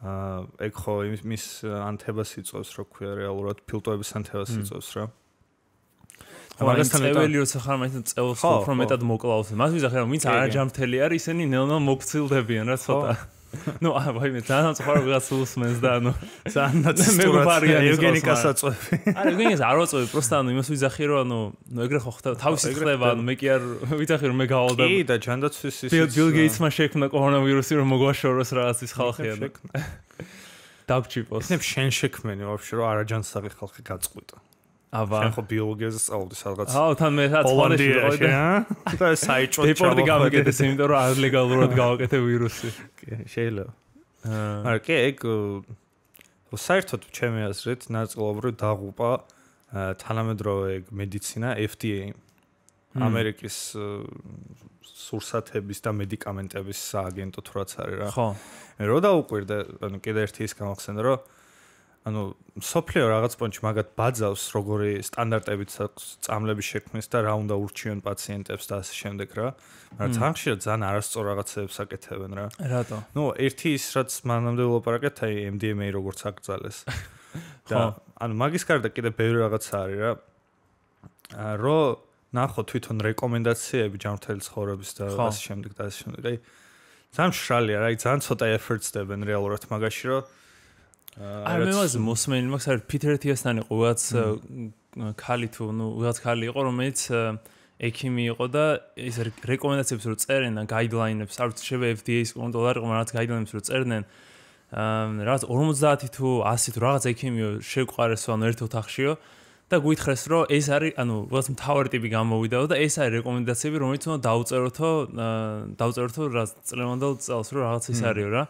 B: აა ეგ ხო იმის ანთებას იწვევს, რა ქვია, რეალურად ფილტვების ანთებას იწვევს რა.
A: მაგასთან წეველი როცა ხარ მაინც წელს უფრო მეტად მოკლავს. მას ვიზახე რომ ვინც არაჯამრთელი არის, ისინი ნელ-ნელა მოგცილდებიან რა ცოტა. ну а ვაიმე ძალიან წყარო ვიღაც უსმენს და ანუ ძალიან ნაცისტურად
B: ევგენიკას აწვევი.
A: არა ევგენიკას არ ვაწვევი, просто ანუ იმას ვიზახი რომ ანუ ნუ ეგრე ხო ხდება, თავისი ხდება, ანუ მე კი არ ვიზახი რომ მე გავალდა.
B: კი და ჯანდაცვის ის
A: ბილ გეიტსმა შექმნა კორონავირუსი რომ მოგვაშოროს რაღაც ის ხალხი ანუ. დაგჭიროს.
B: ისნებ შენ შექმენი ვაფშე რომ არაჯანსაღი ხალხი გაწყვიტა.
A: აბა
B: შენ ხო ბიოლოგიაზე სწავლობდი სადღაც.
A: აუ თან მე რა თვალში ვიყავი
B: და საიჭო ჩავახო.
A: დეპორტი გამიგეთეს იმიტომ რომ არ ლეგალურად გავაკეთე ვირუსი.
B: კი, შეიძლება. არა, კი, ეგ საერთოდ ჩემი აზრით ნაწილობრივ დაღუპა თანამედროვე მედიცინა F D A ამერიკის სურსათების და მედიკამენტების სააგენტო თუ რაც არის რა.
A: ხო.
B: მე რო დაუკვირდა, ანუ კიდე ერთი ის გამახსენდა რომ ანუ სოფლიო რაღაც პონჩი მაგათ ბაძავს როგორი სტანდარტებით წამლების შექმნის და რა უნდა ურჩიონ პაციენტებს და ასე შემდეგ რა. მაგრამ ძალიან ხშირად ძალიან არასწორ რაღაცებს აკეთებენ რა.
A: რატო?
B: ნუ ერთი ის რაც მანამდე ვლაპარაკეთ აი M D M A როგორც აკრძალეს. და ანუ მაგის გარდა კიდე ბევრი რაღაცა არის რა. რო ნახო თვითონ რეკომენდაციები ჯანმრთელი ცხოვრების და ასე შემდეგ და ასე შემდეგ. აი ძალიან მშრალია რა, აი ძალიან ცოტა efforts დებენ რეალურად მაგაში რომ
A: არ მე მას მოსმენი მაქვს არ პიტერ თიასთან იყო ვიღაც ქალი თუ ნუ ვიღაც ქალი იყო რომელიც ექიმი იყო და ის რეკომენდაციებს რო წერენ და გაიდლაინებს არ ვიცი შეიძლება F D A-ის კონტროლარი ყო რაღაც გაიდლაინებს რო წერდნენ რაღაც ორმოცდაათი თუ ასი თუ რაღაც ექიმიო შეგვყარესო ანუ ერთ ოთახშიო და გვითხრეს რომ ეს არის ანუ ვიღაც მთავარი ტიპი გამოვიდაო და ეს არის რეკომენდაციები რომელიც უნდა დაუწეროთო დაუწეროთო რაღაც წლევანდელ წელს რომ რაღაც ის არისო რა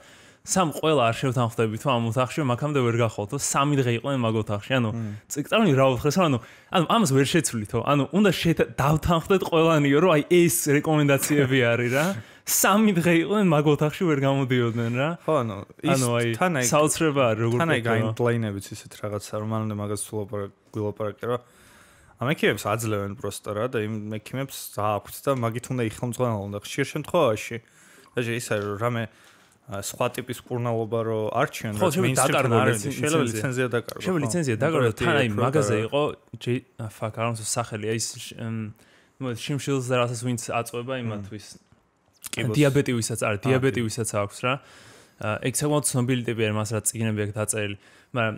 A: სამ ყველა არ შევთანხმდებით ამ ოთახში მაქამდე ვერ გახვალთო სამი დღე იყვნენ მაგ ოთახში ანუ წიგწავნი რა ვთხრეს ანუ ანუ ამას ვერ შეცვლითო ანუ უნდა დავთანხმდეთ ყველანიო რომ აი ეს რეკომენდაციები არის რა სამი დღე იყვნენ მაგ ოთახში ვერ გამოდიოდნენ რა
B: ხო ანუ ის
A: თან აი საოცრება არის როგორ
B: თან აი გაიდლაინებიც ისეთ რაღაცა რომ მანამდე მაგას ვილაპარაკე რა ამ ექიმებს აძლევენ პროსტა რა და იმ ექიმებს აქვთ და მაგით უნდა იხელმძღვანელო უნდა ხშირ შემთხვევაში და ის არის რომ რამე სხვა ტიპის კურნალობა რო არჩიონ
A: რა
B: შეიძლება ლიცენზია დაკარგო
A: შეიძლება ლიცენზია დაკარგო თან აი მაგაზე იყო ფაკ არ მომწონს სახელი აი ნუ შიმშილს და რასაც ვინც აწვება იმათვის დიაბეტი ვისაც არის დიაბეტი ვისაც აქვს რა ეგ საკმაოდ ცნობილი ტიპი არის მას რა წიგნები აქვს დაწერილი მაგრამ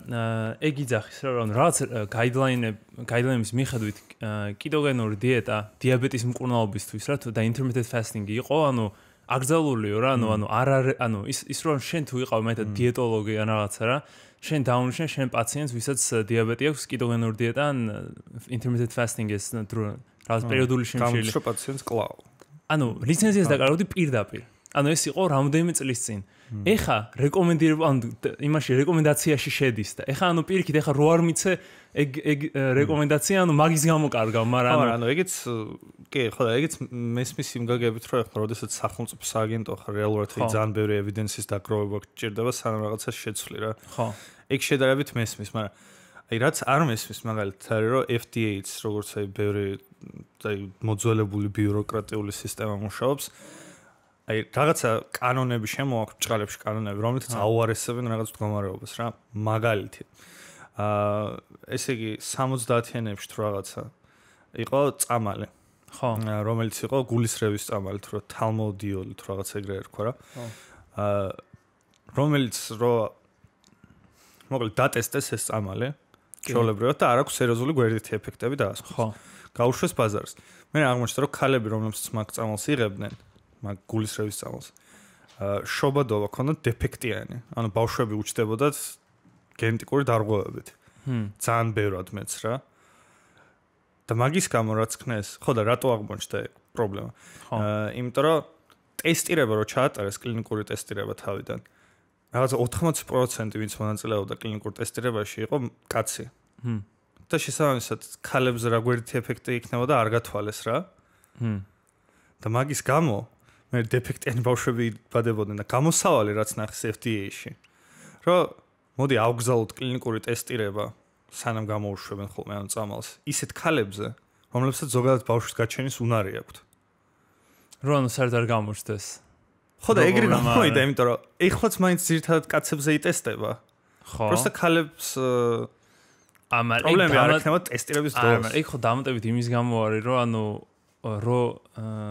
A: ეგ იძახის რომ რაღაც გაიდლაინები გაიდლაინების მიხედვით კეტოგენური დიეტა დიაბეტის მკურნალობისთვის რა თუ და intermittent fasting იყო ანუ აკრძალულიო რა ანუ ანუ არ არის ანუ ის ის რომ შენ თუ იყავ მეტად დიეტოლოგი ან რაღაცა რა შენ დაუნიშნე შენ პაციენტს ვისაც დიაბეტი აქვს კეტოგენური დიეტა ან intermittent fasting ეს რაღაც პერიოდული შიმშილი
B: გამოსრო პაციენტს კლავ
A: ანუ ლიცენზიას დაკარგავდი პირდაპირ ანუ ეს იყო რამდენიმე წლის წინ ეხა რეკომენდირება ანუ იმაში რეკომენდაციაში შედის და ეხა ანუ პირიქით ეხა რო არ მიცე ეგ ეგ რეკომენდაცია ანუ მაგის გამო კარგავ მაგრამ
B: ანუ ანუ ეგეც კი ხო და ეგეც მესმის იმ გაგებით რომ ეხლა როდესაც სახელმწიფო სააგენტო ხარ რეალურად ხი ძალიან ბევრი ევიდენსის დაგროვება გჭირდება სანამ რაღაცას შეცვლი რა
A: ხო
B: ეგ შედარებით მესმის მაგრამ აი რაც არ მესმის მაგალითად არის რომ F D A-ც როგორც აი ბევრი აი მოძველებული ბიუროკრატიული სისტემა მუშაობს აი რაღაცა კანონები შემოაქვს ბჭყალებში კანონები რომლითაც აუარესებენ რაღაც მდგომარეობას რა მაგალითი აა ესე იგი სამოცდაათიანებში თუ რაღაცა იყო წამალი.
A: ხო.
B: რომელიც იყო გულისრევის წამალი, თუ თალმოდიოლი თუ რაღაც ეგრე ერქვა რა. აა რომელიც რო მოკლედ დატესტეს ეს წამალი, ჩვეულებრივად და არ აქვს სერიოზული გვერდითი ეფექტები დაასხოს.
A: ხო.
B: გაუშვეს ბაზარს. მე აღმოჩნდა რომ ქალები რომლებიც მაგ წამალს იღებდნენ, მაგ გულისრევის წამალს, აა შობადობა ქონდათ დეფექტიანი. ანუ ბავშვები უჩნდებოდათ გენეტიკური დარღვევებით.
A: ჰმ.
B: ძალიან ბევრად მეც რა. და მაგის გამო რაც ხნეს, ხო და რატო აღმოჩნდა პრობლემა? აა იმიტომ რომ ტესტირება რო ჩაატარეს კლინიკური ტესტირება თავიდან. რაღაცა ოთხმოცი პროცენტი ვინც მონაწილეობდა კლინიკურ ტესტირებაში იყო კაცი.
A: ჰმ.
B: და შესაბამისად ქალებზე რა გვერდითი ეფექტი იქნებოდა არ გათვალეს რა.
A: ჰმ.
B: და მაგის გამო მე დეფექტიანი ბავშვები იბადებოდნენ და გამოსავალი რაც ნახეს F D A-ში. რომ მოდი ავგზავნოთ კლინიკური ტესტირება სანამ გამოუშვებენ ხოლმე ამ წამალს ისეთ ქალებზე, რომლებსაც ზოგადად бავშვის გაჩენის უნარი აქვთ.
A: რო ანუ საერთოდ არ გამოჩნდეს.
B: ხო და ეგრე გამოვიდა, იმიტომ რომ ეხლაც მაინც ძირითადად კაცებზე იტესტება.
A: ხო.
B: просто ქალებს
A: ამარ
B: პრობლემები არ ექნება ტესტირების დროს.
A: ამარ იქ ხო დამატებით იმის გამო არის, რომ ანუ რო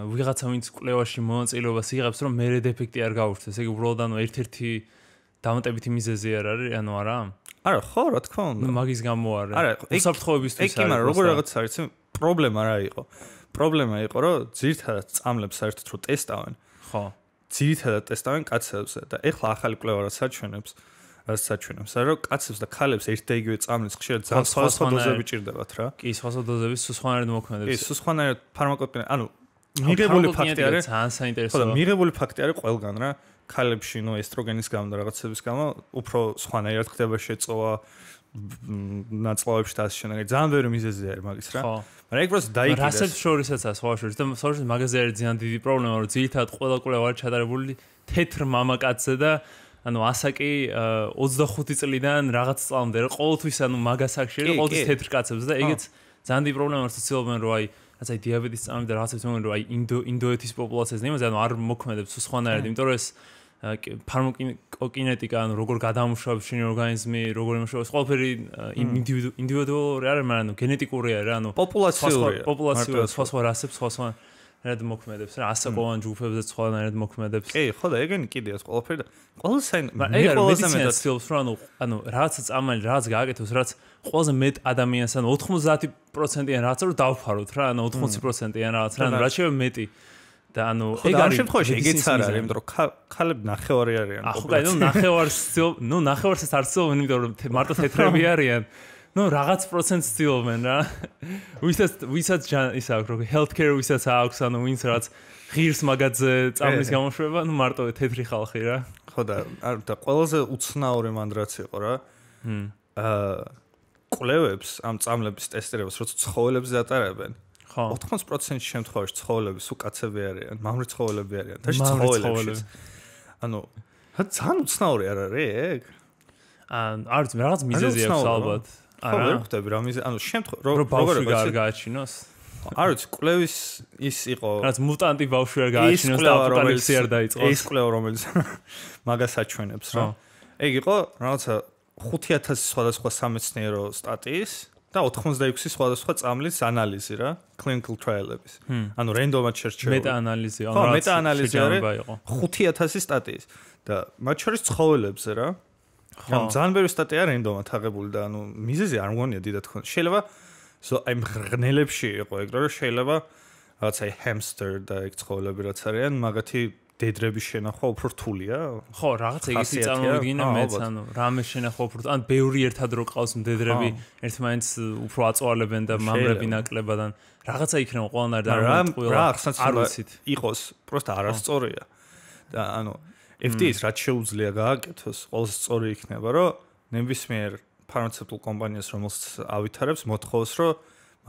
A: ვიღაცა ვინც კვლევაში მონაწილეობას იღებს, რომ მერე დეფექტი არ გაუჩნდეს. ეგ უბრალოდ ანუ ერთ-ერთი დამატებითი მიზეზი არ არის, ანუ არა?
B: არა, ხო, რა თქმა უნდა.
A: ნუ მაგის გამო არის.
B: არა,
A: უსაფრთხოებისთვის
B: არის. ეგ მაგრამ როგორ რაღაც არის, პრობლემა რა იყო? პრობლემა იყო, რომ ძირითადად წამლებს საერთოდ რო ტესტავენ.
A: ხო.
B: ძირითადად ტესტავენ კაცებზე და ეხლა ახალი კვლევა რაც საჩვენებს, რაც საჩვენებს, რომ კაცებს და ქალებს ერთ და იგივე წამლის ხშირად ძალიან სხვადასხვა დოზები ჭირდებათ რა.
A: კი, სხვადასხვა დოზების სხვანაირად მოქმედებს.
B: კი, სხვანაირად ფარმაკოპინე, ანუ მიღებული ფაქტი არის,
A: ძალიან საინტერესოა.
B: ხო და მიღებული ფაქტი არის ყველგან რა. ქალებში ნუ ესტროგენის გამო და რაღაცების გამო უფრო სხვანაირად ხდება შეწოვა ნაწლავებში და ასე შემდეგ. ძალიან ბევრი მიზეზი არის მაგის რა. მაგრამ ეგ პროცესი დაიკიდეს.
A: რასებს შორისაცაა სხვა შორის და სხვა შორის მაგაზე არის ძალიან დიდი პრობლემა, რომ ძირითადად ყველა კვლევა არის ჩატარებული თეთრ მამაკაცზე და ანუ ასაკი ოცდახუთი წლიდან რაღაც წლამდე რა ყოველთვის ანუ მაგას აქში რა ყოველთვის თეთრ კაცებს და ეგეც ძალიან დიდი პრობლემა არის ცდილობენ რომ აი რაც აი დიაბეტის წამი და რაღაცებს მომენ რომ აი ინდო ინდოეთის პოპულაციაზე იმაზე ანუ არ მოქმედებს სხვანაირად, იმიტომ რომ ეს ფარმაკოკინეტიკა ანუ როგორ გადამუშავებს შენი ორგანიზმი, როგორ იმუშავებს, ყველაფერი ინდივიდუალური არის, მაგრამ ანუ გენეტიკური არის, ანუ
B: პოპულაციურია.
A: პოპულაციურია, სხვა სხვა რასებს, სხვა სხვა რად მოქმედებს რა, ასაკოვან ჯგუფებზე სხვანაირად მოქმედებს.
B: კი, ხო და ეგენი კიდეა ყველაფერი და ყველა საინ
A: მე ყველაზე მეტად ცდილობს რომ ანუ ანუ რაღაცა წამალი რაღაც გააკეთოს, რაც ყველაზე მეტ ადამიანს ანუ ოთხმოცდაათი პროცენტიან რაღაცა რომ დავფაროთ რა, ანუ ოთხმოცი პროცენტიან რაღაცა, ანუ რაც შეიძლება მეტი და ანუ
B: ეგ არის შემთხვევაში ეგეც არ არის, იმიტომ რომ ქალები ნახევარი არიან.
A: ახლა კაი, ნუ ნახევარს ცდილობ, ნუ ნახევარსაც არ ცდილობენ, იმიტომ რომ მარტო თეთრები არიან. ნუ რაღაც პროცენტს ცდილობენ რა. ვისაც ვისაც ის აქვს რომ healthcare ვისაც აქვს, ანუ ვინც რაც ღირს მაგაზე წამლის გამოშვება, ნუ მარტო თეთრი ხალხი რა.
B: ხო და არ და ყველაზე უცნაური მანდრაც იყო რა. აა კვლევებს ამ წამლების ტესტირებას როცა ცხოველებზე ატარებენ. ხო. ოთხმოცი პროცენტ შემთხვევაში ცხოველები სულ კაცები არიან, მამრი ცხოველები არიან. და ცხოველებში. ანუ ძალიან უცნაური არ არის ეგ?
A: ან არც რაღაც მიზეზი აქვს ალბათ.
B: არა, ვერ ხვდები რა მიზეზი, ანუ შემთხვევაში
A: როგორ როგორ გააჩინოს?
B: არ ვიცი, კვლევის ის იყო.
A: რაც მუტანტი ბავშვი არ გააჩინოს და აპოკალიფსი არ დაიწყოს.
B: ეს კვლევა რომელიც მაგას აჩვენებს რა. ეგ იყო რაღაცა ხუთი ათასი სხვადასხვა სამეცნიერო სტატიის და ოთხმოცდაექვსი სხვადასხვა წამლის ანალიზი რა, clinical trial-ების. ანუ რენდომად შერჩეული.
A: მეტა-ანალიზი,
B: ანუ რა მეტა-ანალიზი არის ხუთი ათასი სტატიის და მათ შორის ცხოველებზე რა. ანუ ძალიან ბევრი სტატია რენდომად აღებული და ანუ მიზეზი არ მგონია დიდად ხონდა. შეიძლება აი მღრღნელებში იყო ეგ რომ შეიძლება რაღაც აი hamster და ეგ ცხოველები რაც არიან, მაგათი დედრების შენახვა უფრო რთულია.
A: ხო, რაღაც ეგეთი წარმოვიდგინე მეც, ანუ რამე შენახვა უფრო, ან ბევრი ერთად რო ყავს მდედრები, ერთმანეთს უფრო აწვალებენ და მამრები ნაკლებადან. რაღაცა იქნება ყველანაირ და
B: რა რა ახსნაც იყოს, პროსტა არასწორია. და ანუ F D A-ს რაც შეუძლია გააკეთოს, ყველაზე სწორი იქნება, რომ ნებისმიერ ფარმაცევტულ კომპანიას რომელსაც ავითარებს, მოთხოვს, რომ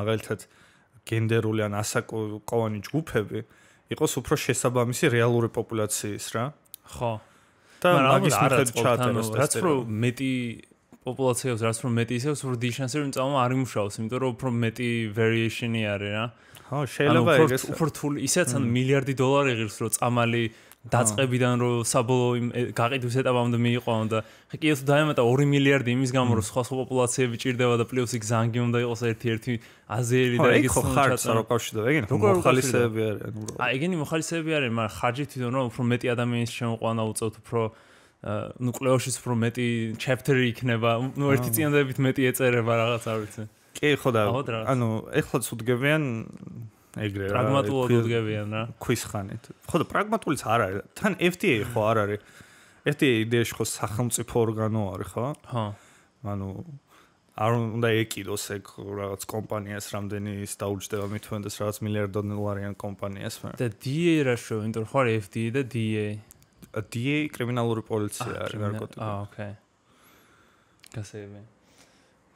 B: მაგალითად გენდერული ან ასაკოვანი ჯგუფები იყოს უფრო შესაბამისი რეალური პოპულაციის რა.
A: ხო.
B: და მაგის მიხედვით ჩაატაროს
A: ტესტები. რაც უფრო მეტი პოპულაციას, რაც უფრო მეტი ისევ უფრო დიდი შანსი რომ წამო არ იმუშაოს, იმიტომ რომ უფრო მეტი variation-ი არის რა.
B: ხო, შეიძლება ეგეს
A: უფრო რთული, ისეც ან მილიარდი დოლარი ღირს რომ წამალი დაწყებიდან რომ საბოლოო გაყიდვის ეტაპამდე მიიყო და ხა კი ეს დაემატა ორი მილიარდი იმის გამო რომ სხვა სხვა პოპულაციები ჭირდება და პლუს იქ ზანგი უნდა იყოს ერთ-ერთი აზიელი და ეგეც
B: ხო ხარჯს არ უკავშირდება ეგენი მოხალისეები არიან უბრალოდ
A: აი ეგენი მოხალისეები არიან მაგრამ ხარჯი თვითონ რომ უფრო მეტი ადამიანის შემოყვანა უწევთ უფრო ნუ კლეოშიც უფრო მეტი chapter-ი იქნება ნუ ერთი წინადებით მეტი ეწერება რაღაც არ ვიცი
B: კი ხო და ანუ ეხლაც უდგებიან ეგრე რა
A: პრაგმატულად უდგებიან რა
B: ქვის ხანით ხო და პრაგმატულიც არ არის თან F D A ხო არ არის F D A იდეაში ხო სახელმწიფო ორგანო არის ხო
A: ხო
B: ანუ არ უნდა ეკიდოს ეგ რაღაც კომპანიას რამდენი ის დაუჯდება მithwendes რაღაც მილიარდ დოლარიან კომპანიას
A: და D A რა შო იმიტომ რომ ხო არის F D A და D A
B: D A კრიმინალური პოლიცია არის ნარკოტიკები
A: აა ოკეი გასეები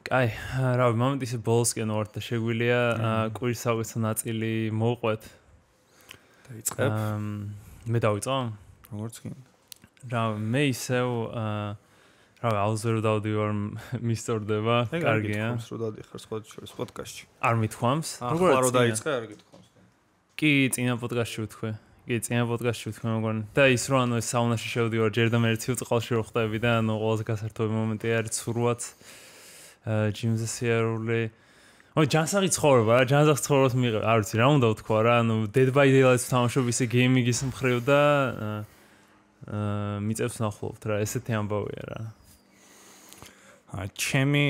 A: აი, რა ვიცი, მომენტ ისე ბოლოსკენ ვარ და შეგვიძლია კვირის საუკეთესო ნაწილი მოვყვეთ.
B: დაიწყებ.
A: მე დავიწყო?
B: როგორც კი.
A: რა მე ისევ რა აუზერო დავდივარ მისტორდება, კარგია.
B: ეს რო დადიხარ სხვა შორის პოდკასტში.
A: არ მithwams?
B: როგორ რო დაიწყე, არ გითხოვს.
A: კი, წინა პოდკასტში ვთქვი. კი, წინა პოდკასტში ვთქვი მოგონი. და ის რო ანუ ეს საუნაში შევდივარ ჯერ და მე ცივ წყალში რო ხდები და ანუ ყველაზე გასართობი მომენტი არის ცურვაც. ჯიმზე სიარული. ой, ჯანსაღი ცხოვრება, რა, ჯანსაღი ცხოვრებას მიიღე. არ ვიცი, რა უნდა ვთქვა რა, ანუ Dead by Daylight-ს ვთამაშობ ისე გეიმინგის მხრივ და აა მიწევს ნახულობთ რა, ესეთი ამბავია რა.
B: აა ჩემი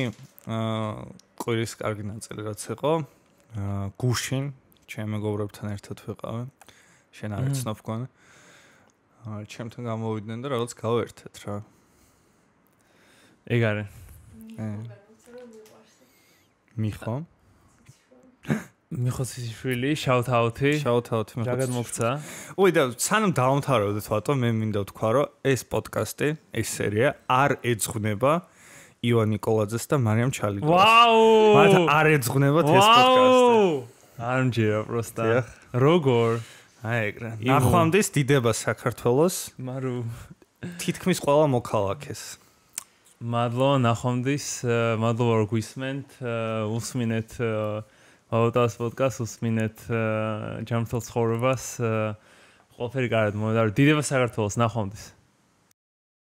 B: აა კვირის კარგი ნაწილი რაც იყო, აა გუშინ ჩემ მეგობრებთან ერთად ვიყავი. შენ არ იცნობ გქონე. აა ჩემთან გამოვიდნენ და რაღაც გავერთეთ რა.
A: ეგ არის.
B: მიხო
A: მიხო სიშვილი shout out-ი
B: shout out-ი
A: მიხო რაგად მოგცა
B: ой და სანამ დავამთავრებდეთ ვატო მე მინდა ვთქვა რომ ეს პოდკასტი ეს სერია არ ეძღვნება ივან ნიკოლაძეს და მარიამ ჩალიკოვას
A: ვაუ
B: მათ არ ეძღვნებათ ეს პოდკასტი
A: არ მჯერა პროსტა როგორ
B: აი ეგრე ნახვამდის დიდება საქართველოს
A: მარუ
B: თითქმის ყველა მოქალაქეს
A: მადლობა ნახვამდის მადლობა რომ გვისმენთ უსმინეთ აუტას პოდკასტს უსმინეთ ჯანმრთელ ცხოვრებას ყველაფერი კარგად მომედა დიდება საქართველოს ნახვამდის